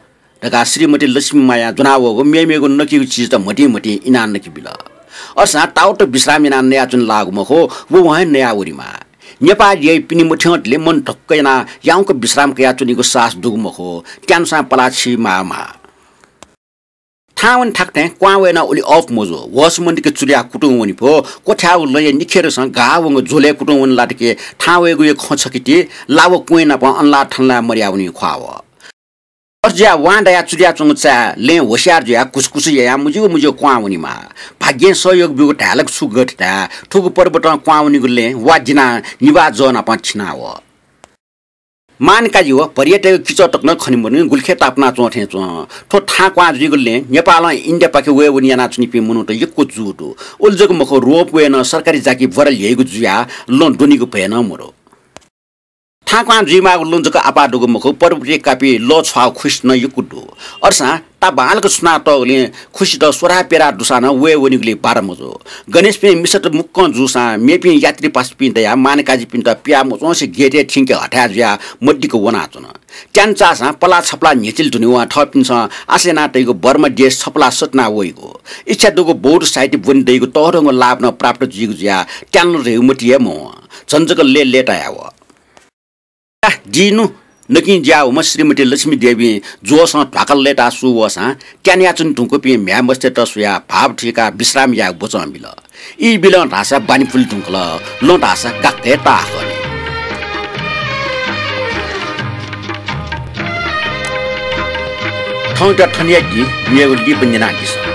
धकाः श्रीमती लक्ष्मी मायां ज्वनावःगु मेमेगु नकिगु चिजत म्हतिं म्हतिं इनाः नके बिल। अथेसां ताउत विश्राम यानाः नयाच्वने लाःगु मखु, व वहं हे नयाः वनेमाः। नेपाः देय् पिने मथ्यंतले मन ढक्क यानाः याउँक विश्राम कयाच्वनीगु साहस दुगु मखु, त्यानुसां पलाः छि माःमाः। थाहां वने थाकथें क्वहां वये नं उलि अःपु मजू। होश मदय्‌क चुलिया कुतुं वने फु। क्वथ्याःगु लँया निखेरसं गाः वंगु झ्वलय् कुतुं वने लात कि थाहां वयेगु हे खँ छखे ति, लाव क्वँय् नाप अनलाः थनलाः मदयाः वनीगु ख्वाः वः। अथे जुयाः वां दायाः चुलियाच्वंगु चाय् लँय् होशियार जुयाः कुसकुस यायां मज्यू मज्यू क्वहां वनेमाः। भाग्यं सहयोग ब्यूगु धाये ला कि छु गथे धाये, थुगु पर्वतं क्वहां वनीगु लँय् वा दिनाः निभाः जः नाप थिना वः। मानकाजी व भरियातय्‌गु किचः तक नं खने मदुनि, गुलिखे तापाना च्वं थें च्वं। थ्व थाहां क्वहां जुइगु लँय् नेपालं इन्डियापाखे वये वने यानाच्वनीपिं मनूत यक्व जू दु। उलि जक मखु, रोपवे नं सरकारी जाकि बरल ल्ह्यइगु जुयाः लँ द्वनीगु भय नं मदु। थांक्वहां जुइमाःगु लँ जक आपाः दुगु मखु, पर्वतिइ कापि लः छ्वाःगु खुसि नं यक्व दु। अय्‌सां ताःबांलाक छुनातःगुलिं खुसित स्वराः प्यराः दुसां नं वये वनीगुलिइ बाधा मजू। गणेशपिं मिसात मुक्कं जूसां मेपिं यात्री पासापिं दयाः मानय् काजीपिन्त पियाः मच्वंसे गेटय् थ्यंके हथाय् जुयाः मदिक्क वनाच्वन। त्यान चाःसां पलाः छपलाः न्ह्यचिल धुनेवं थःपिन्सं आशा यानातइगु बर्मा देश छपलाः सःतुना वइगु, इच्छा दुगु बौद्ध साहित्य ब्वने दइगु तःधंगु लाभ नं प्राप्त जुइगु जुयाः त्यानलं धइगु मति हे मवं। झन जक लय्‌लय्‌ताया वः। दिनु नकिं ज्याःम्ह श्रीमती लक्ष्मी देवीं जोशं ध्वाखा लय्‌ताः सू वःसां त्यानयाच्वने धुंकूपिं म्ह्याय्‌मस्तय्‌त स्वयाः भाव थुइकाः विश्राम यायेगु वचं बिल। ई बिलं धाःसा बानी पुले धुंकल, लँ धाःसा गाक्क हे ताःहाकः नि। थौंयात थन याकि, मेगु लिपा न्यनादिसँ।